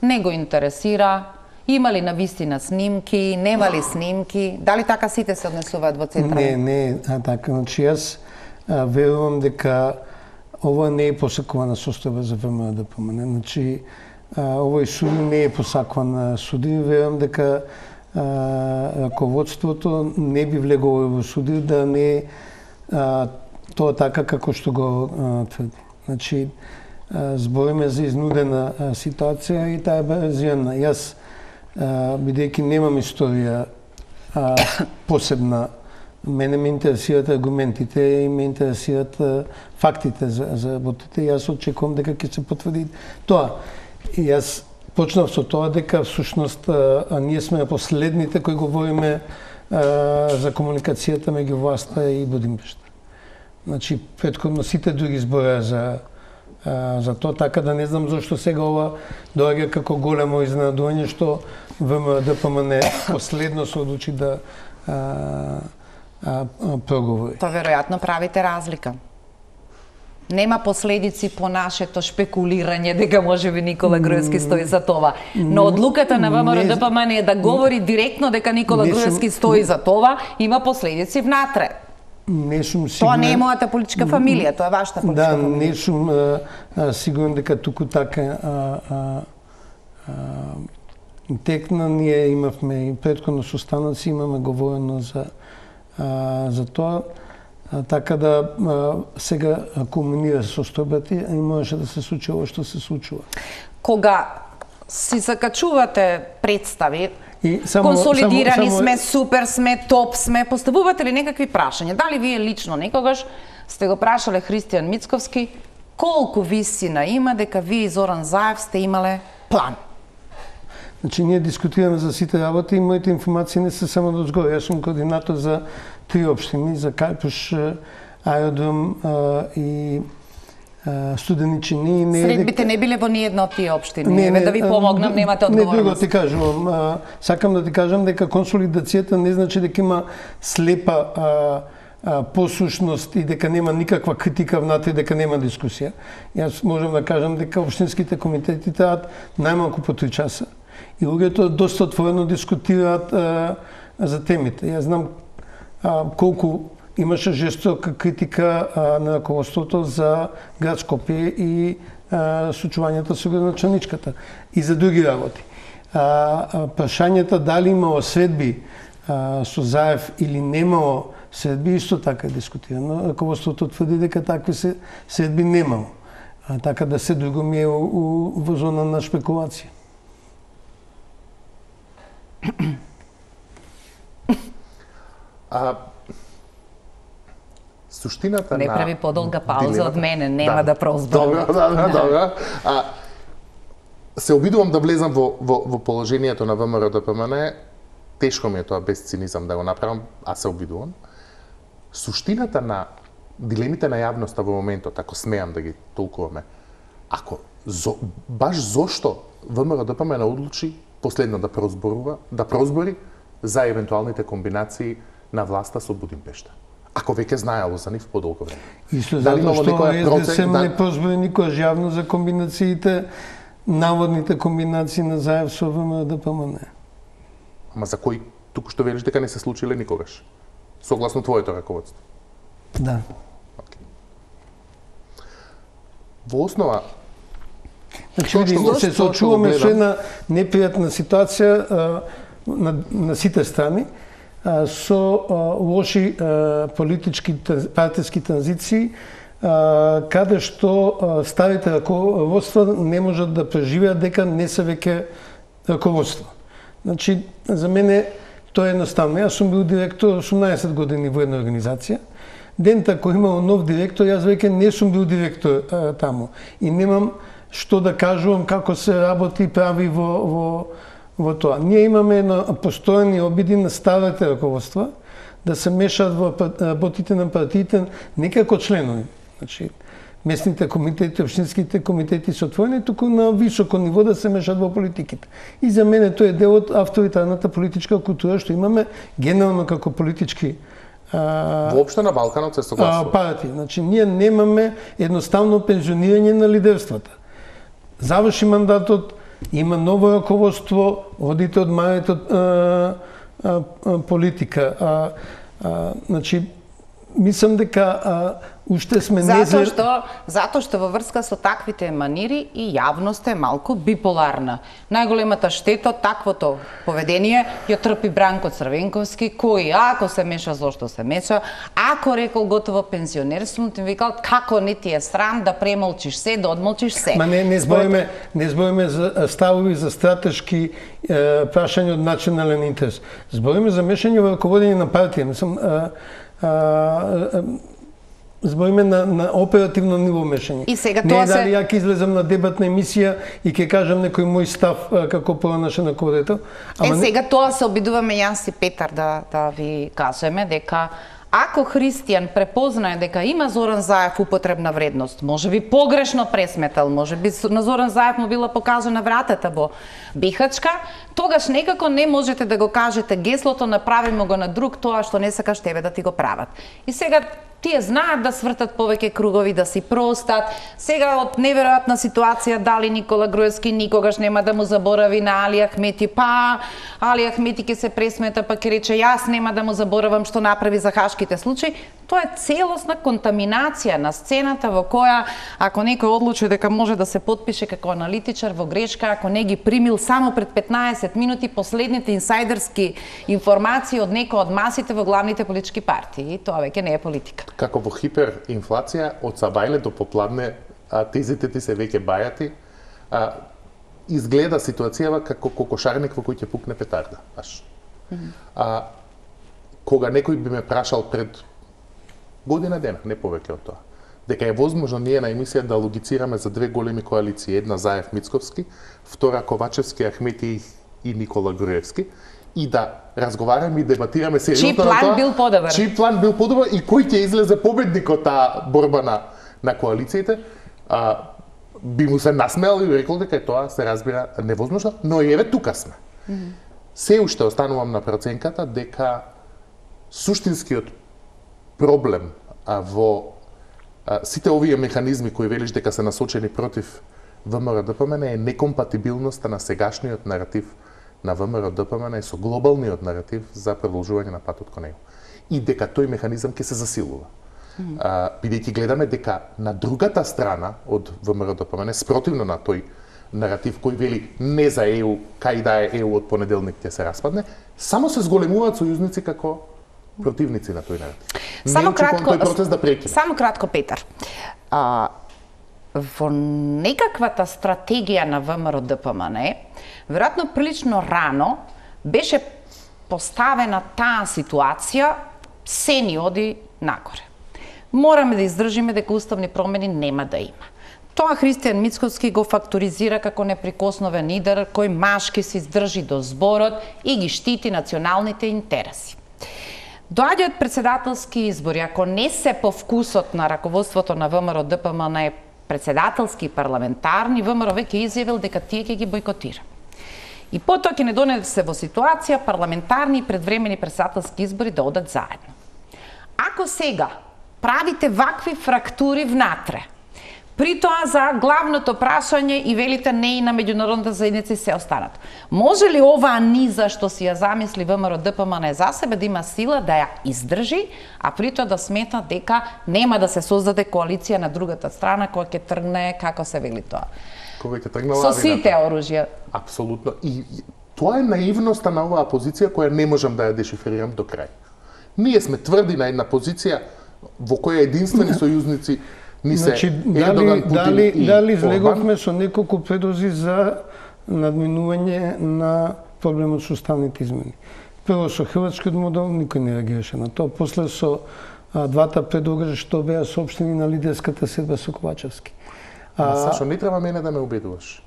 Не го интересира, има ли навистина снимки, нема ли снимки, дали така сите се однесуваат во Централен? Не, не, а така, значи јас а, верувам дека ова не е посакувана состојба за ВМРО Д П М Н. Значи, а, овој суд не е посакуван суди, верувам дека а, раководството не би влегло во суди да не а, тоа така како што го а, тврди. Значи, а, збориме за изнудена а, ситуација и таа е базирана. Јас, а, бидејќи немам историја а, посебна, мене ме интересираат аргументите и ме интересираат а, фактите за, за работите. Јас очекувам дека ќе се потврди тоа. И јас почнав со тоа дека всушност а, а ние сме последните кои говориме а, за комуникацијата меѓу власта и Будимпешта. Значи, претходно сите други збораа за а, за тоа, така да не знам зошто сега ова доаѓа како големо изненадување што ВМДПМН последно се одлучи да а, а, а, проговори. Тоа веројатно правите разлика. Нема последици по нашето шпекулирање дека можеби Никола Груевски стои за това. Но одлуката на ВМРО-ДПМН е да говори директно дека Никола Груевски стои за това, има последици внатре. Не сум сигурен. Тоа не е мојата политичка фамилија, тоа е вашата политичка да, фамилија. Да, не сум а, а, сигурен дека туку така а, а, а, текна. Ние имавме и претходно состаноци, имаме говорено за а, за тоа. А, така да а, сега комунира со состојбата и можеше да се случи ова што се случува. Кога си закачувате представи, и само, консолидирани само, само... сме, супер сме, топ сме, поставувате ли некакви прашања? Дали вие лично некогаш сте го прашале Христијан Мицковски колку висина има дека вие и Зоран Заев сте имале план? Значи, ние дискутираме за сите работи и моите информации не се само до згоре. Јас сум координатор за три општини, за Кајпуш, аеродром а, и а, Студеничини. Не Средбите не биле во ниедна од тие општини. Не, не, да ви помогнам, а, немате одговорност. Не, друго ти кажувам. А, сакам да ти кажам дека консолидацијата не значи дека има слепа а, а, послушност и дека нема никаква критика внатре, дека нема дискусија. Јас можам да кажам дека општинските комитети траат најмалку по три часа. И луѓето доста отворено дискутираат а, за темите. Јас знам а, колку имаше жестока критика а, на раководството за град Скопје и а, случувањето со градоначалничката и за други работи. А, а, прашањето дали имало средби а, со Заев или немало средби исто така е дискутирано. Раководството тврди дека такви се средби немало. А, така да се друго ми е у, у, во зона на шпекулација. А, суштината не на... Не прави подолга пауза дилемата... од мене, нема да, да прозборам. Добро, добро, добро. А, се обидувам да влезам во, во, во положението на ВМРО-ДПМН. Тешко ми е тоа без цинизам да го направам, а се обидувам. Суштината на дилемите на јавноста во моментот, ако смеам да ги толкуваме, ако зо, баш зошто ВМРО-ДПМН одлучи последно да прозборува, да прозбори за евентуалните комбинации на власта со Будимпешта. Ако веќе знаело за нив подолго време. Исто затоа што СДСМ да... не прозбори никој јавно за комбинациите, наводните комбинации на Заев со ВМРО-ДПМН. Ама за кои туку што велиш дека не се случиле никогаш? Согласно твоето раководство? Да. Okay. Во основа Значи, види, се соочуваме со една непријатна ситуација а, на, на сите страни, а, со а, лоши а, политички партиски транзиции, а, каде што а, старите раководства не можат да преживеат дека не се веќе раководство. Значи, за мене тоа е едноставно. Јас сум бил директор осумнаесет години во една организација. Дента кој имало нов директор, јас веќе не сум бил директор а, таму. И немам што да кажувам како се работи и прави во, во, во тоа. Ние имаме на постојани обиди на старите раководства да се мешаат во работите на партиите не како членови. Значи, местните комитети, општинските комитети се отворени, туку на високо ниво да се мешаат во политиките. И за мене тоа е дел од авторитарната политичка култура што имаме генерално како политички воопшто на Балканот се согласува. Партии. Значи, ние немаме едноставно пензионирање на лидерствата. Заврши мандатот, има ново раководство, одите од марите од а, а, а, политика. А, а, значи, мислам дека а, уште сме не... Затоа што, затоа што во врска со таквите манири и јавноста е малку биполарна. Најголемата штета од таквото поведение ја трпи Бранко Црвенковски, кој ако се меша зошто се меша, ако рекол готово пензионер сум, ти викал како не ти е срам да премолчиш се, да одмолчиш се. Ма не, не збориме, не збориме за ставови за стратешки е, прашања од национален интерес. Збориме за мешање во раководење на партија. Мислам, а, а, а, збориме на, на оперативно ниво мешање. И сега не тоа е дали се... ја ќе излезам на дебатна емисија и ќе кажам некој мој став а, како пронашен рководител. Е, не... сега тоа се обидуваме јас и Петар да, да ви кажеме, дека ако христијан препознае дека има Зоран Заев употребна вредност, може би погрешно пресметал, може би на Зоран Заев му била покажана вратата во Бихачка, тогаш некако не можете да го кажете геслото направимо го на друг тоа што не сакаш тебе да ти го прават. И сега тие знаат да свртат повеќе кругови, да си простат. Сега од неверојатна ситуација дали Никола Груевски никогаш нема да му заборави на Али Ахмети, па Али Ахмети ќе се пресмета, па ќе рече јас нема да му заборавам што направи за хашките случаи. Тоа е целосна контаминација на сцената во која ако некој одлучи дека може да се потпише како аналитичар во грешка, ако не ги примил само пред петнаесет минути последните инсайдерски информации од некој од масите во главните политички партии. И тоа веќе не е политика. Како во хиперинфлација, од сабајле до попладне, а, тезите ти се веќе бајати, а, изгледа ситуацијава како кокошарник во кој ќе пукне петарда. Баш. Mm -hmm. а, кога некој би ме прашал пред година дена, не повеќе од тоа, дека е возможно ние на емисија да логицираме за две големи коалиции, една Заев Мицковски, втора Ковачевски, Ахмети и Никола Груевски, и да разговараме и дебатираме сериозно на тоа. Чиј план бил подобар? Чиј план бил подобар и кој ќе излезе победник од таа борба на на коалициите? А, би му се насмеал и рекол дека тоа се разбира невозможно, но и еве тука сме. Mm -hmm. Се уште останувам на проценката дека суштинскиот проблем а, во а, сите овие механизми кои велиш дека се насочени против ВМРО-ДПМН е некомпатибилноста на сегашниот наратив на ВМРО-ДПМН со глобалниот наратив за продолжување на патот кон него. И дека тој механизам ќе се засилува. Mm -hmm. а, бидејќи гледаме дека на другата страна од ВМРО-ДПМН, спротивно на тој наратив кој вели не за Е У, кај да е Е У од понеделник ќе се распадне, само се зголемуваат сојузници како противници на тој наратив. Само не кратко, тој процес да прекине. Само кратко, Петар. А, во некаквата стратегија на ВМРО-ДПМН, веројатно прилично рано беше поставена таа ситуација, се ни оди нагоре. Мораме да издржиме дека уставни промени нема да има. Тоа Христијан Мицковски го факторизира како неприкосновен лидер кој машки се издржи до зборот и ги штити националните интереси. Доаѓаат председателски избори, ако не се по вкусот на раководството на ВМРО-ДПМН председателски и парламентарни, ВМРО веќе изјавил дека тие ќе ги бойкотира. И потоа ќе не донесе во ситуација парламентарни и предвремени председателски избори да одат заедно. Ако сега правите вакви фрактури внатре, при тоа за главното прашање и велите не и на меѓународната заедница и се останат. Може ли оваа низа што си ја замисли ВМРО-ДПМН за себе да има сила да ја издржи, а при тоа да смета дека нема да се создаде коалиција на другата страна која ќе тргне, како се вели тоа? Кога ќе тргне лавината. Со сите оружја. Апсолутно. И тоа е наивноста на оваа позиција која не можам да ја дешифрирам до крај. Ние сме тврди на една позиција во која единствени сојузници ни се значи, Ердоган, Путин дали, и дали излеговме со неколку предлози за надминување на проблемот со уставните измени. Прво со хрватскиот модел никој не реагираше на тоа. После со а, двата предлога што беа соопштени на лидерската седба со Ковачевски. А, Сашо, не треба мене да ме убедуваш.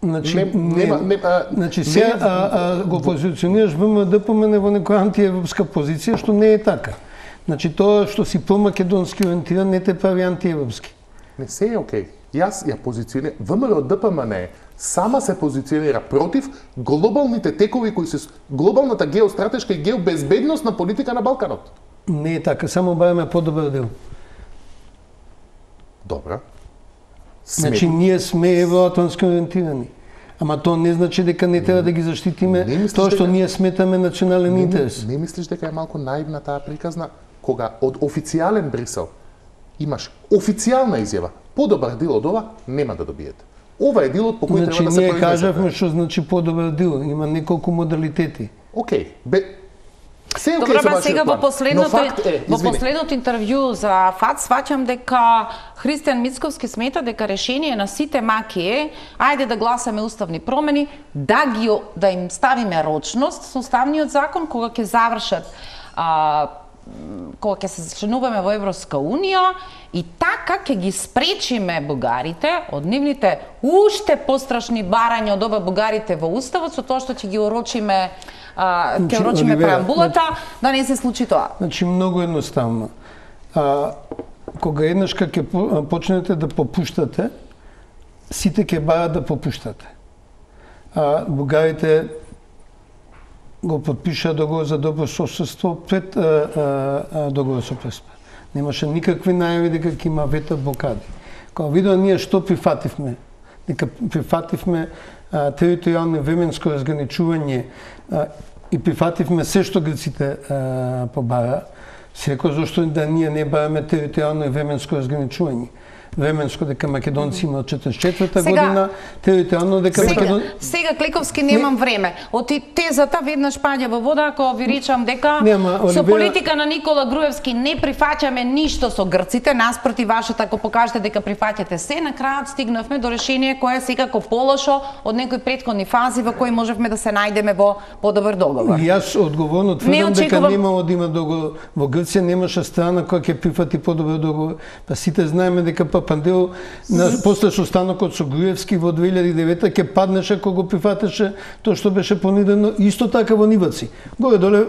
Значи, не, не, нема, не, а, значи се не, а, а, го позиционираш ВМРО-ДПМН во некоја антиевропска позиција, што не е така. Значи тоа што си промакедонски ориентиран не те прави антиевропски. Не се е окей. Јас ја позиционирам, ВМРО-ДПМН сама се позиционира против глобалните текови кои се глобалната геостратешка и геобезбедносна политика на Балканот. Не е така, само бараме подобар дел. Добра. Значи ние сме евроатлантски ориентирани. Ама тоа не значи дека не треба да ги заштитиме тоа што дека... ние сметаме национален не, интерес. Не, не мислиш дека е малку наивна таа приказна кога од официјален Брисел имаш официјална изјава, подобар дел од ова нема да добиете. Ова е делот по кој значи, треба да се произнесете. Значи ние кажавме што значи подобар дел, има неколку модалитети. Океј, бе се Добре, okay, ба сега во последното е, во последното интервју за ФАТ сваќам дека Христијан Мицковски смета дека решение на сите маки е ајде да гласаме уставни промени, да ги да им ставиме рочност со уставниот закон кога ќе завршат а, кога ќе се членуваме во Европска унија и така ќе ги спречиме бугарите од нивните уште пострашни барања од ова бугарите во уставот со тоа што ќе ги орочиме а, ќе Значи, орочиме Оливера, преамбулата, да не се случи тоа. Значи многу едноставно. А, кога еднаш ќе почнете да попуштате, сите ќе барат да попуштате. А, бугарите го подпиша договор за добро соседство пред а, а, договор со Преспа. Немаше никакви најави дека ќе има вето блокади. Кога видоа ние што прифативме, дека прифативме а, територијално временско разграничување а, и прифативме се што грците а, побара, секој зашто да ние не бараме територијално и временско разграничување. Временско дека македонци има од четиридесет и четврта година, територијално дека Македон... Сега Кликовски немам не... време. Оти тезата веднаш паѓа во вода ако ви речам дека Нема, Оливера... со политика на Никола Груевски не прифаќаме ништо со грците, наспроти вашата ако покажете дека прифаќате се, на крајот стигнавме до решение кое е секако полошо од некои претходни фази во кои можевме да се најдеме во подобар договор. И јас одговорно тврдам дека немало да има договор во Грција, немаше страна која ќе прифати подобар договор. Па сите знаеме дека Пандел на после состанокот со Груевски во две илјади и девета ќе паднеше кога го прифатеше тоа што беше понудено исто така во Ниваци. Горе доле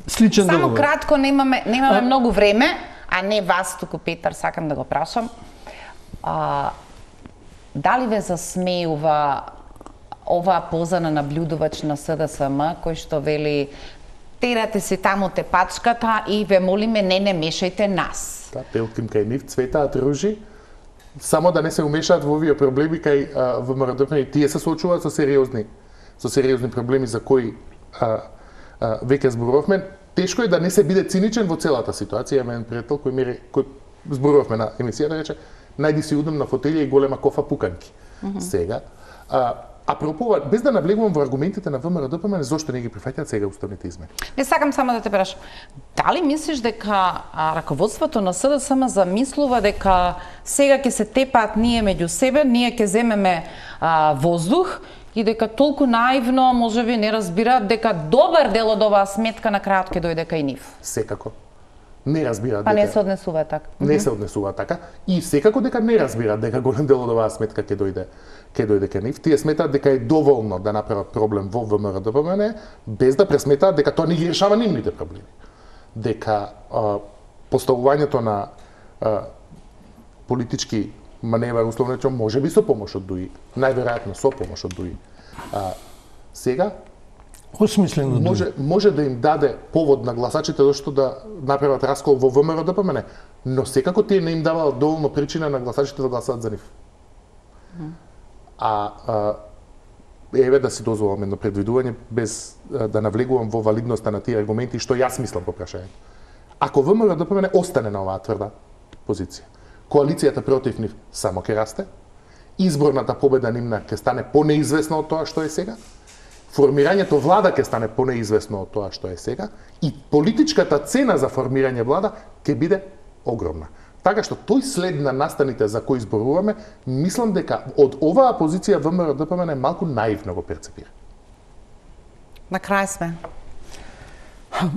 сличен Само договор. Само кратко, немаме немаме а... многу време, а не вас туку Петар, сакам да го прашам. А, дали ве засмеува оваа поза на наблюдувач на СДСМ кој што вели терате се таму те пачката и ве молиме не не мешајте нас. Да, пелким кај нив цветаат ружи, само да не се умешаат во овие проблеми кај ВМРО-ДПМН и тие се соочуваат со сериозни со сериозни проблеми за кои а, а, веќе зборувавме. Тешко е да не се биде циничен во целата ситуација. Имам пријател кој ми кој зборувавме на емисијата рече најди си удобна фотелја и голема кофа пуканки. Mm -hmm. Сега а, апропо, без да навлегувам во аргументите на ВМРО-ДПМН, зошто не ги прифаќаат сега уставните измени? Не сакам само да те прашам. Дали мислиш дека а, раководството на СДСМ замислува дека сега ќе се тепаат ние меѓу себе, ние ќе земеме а, воздух и дека толку наивно можеби не разбираат дека добар дел од оваа сметка на крајот ќе дојде кај нив? Секако. Не разбираат па дека... не се однесува така. Не се однесува така. И секако дека не разбираат дека голем дел од оваа сметка ќе дојде ќе дојде кај нив. Тие сметаат дека е доволно да направат проблем во ВМРО-ДПМН, без да пресметаат дека тоа не ги решава нивните проблеми. Дека а, поставувањето на а, политички маневар, условно речено, може би со помош од ДУИ, најверојатно со помош од ДУИ. А, сега осмислено може може да им даде повод на гласачите зашто да направат раскол во ВМРО-ДПМН, но секако тие не им даваат доволно причина на гласачите да гласаат за нив. Mm. А, а еве да си дозволам едно предвидување без а, да навлегувам во валидноста на тие аргументи што јас мислам по прашањето. Ако ВМРО-ДПМН остане на оваа тврда позиција, коалицијата против нив само ќе расте, изборната победа нивна ќе стане понеизвестна од тоа што е сега, формирањето влада ќе стане понеизвестно од тоа што е сега и политичката цена за формирање влада ќе биде огромна. Така што тој след на настаните за кои зборуваме, мислам дека од оваа позиција ВМРО-ДПМН малку наивно го перцепира. На крај сме.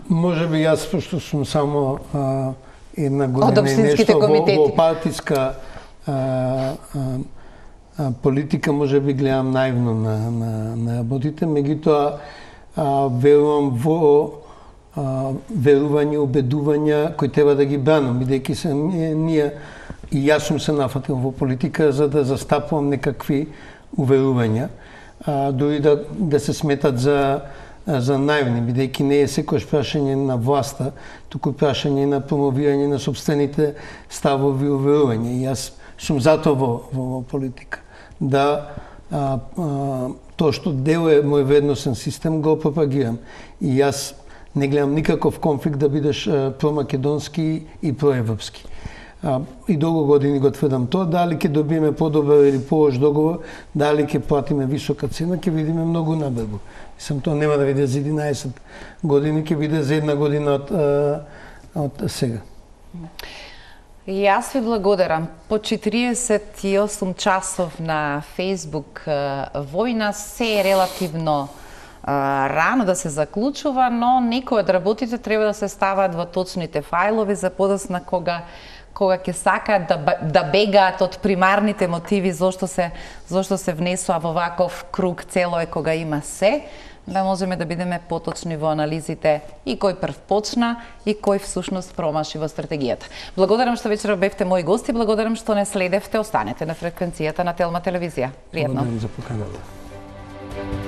Може би јас, пошто сум само а, една година и нешто во, во партиска а, а, политика, може би гледам наивно на, на, на работите, меѓутоа верувам во а, верување, убедувања кои треба да ги бранам, бидејќи се ние и јас сум се нафатил во политика за да застапувам некакви уверувања, а, дури да, да се сметат за за наивни, бидејќи не е секојаш прашање на власта, туку прашање на промовирање на собствените ставови и уверувања. И јас сум затоа во, во политика. Да а, а, тоа што дел е мој вредносен систем го пропагирам. И јас не гледам никаков конфликт да бидеш а, промакедонски и проевропски. А, и долго години го тврдам тоа, дали ќе добиеме подобар или полош договор, дали ќе платиме висока цена, ќе видиме многу набрзо. Мислам, тоа нема да биде за единаесет години, ќе биде за една година од, од сега. Јас ви благодарам. По четириесет и осум часов на Facebook војна се е релативно рано да се заклучува, но некои од работите треба да се стават во точните фајлови за подосна кога кога ќе сакаат да, да бегаат од примарните мотиви зошто се зошто се внесува во ваков круг цело е кога има се, да можеме да бидеме поточни во анализите и кој прв почна и кој всушност промаши во стратегијата. Благодарам што вечера бевте мои гости, благодарам што не следевте, останете на фреквенцијата на Телма телевизија. Пријатно. Благодарам за поканата.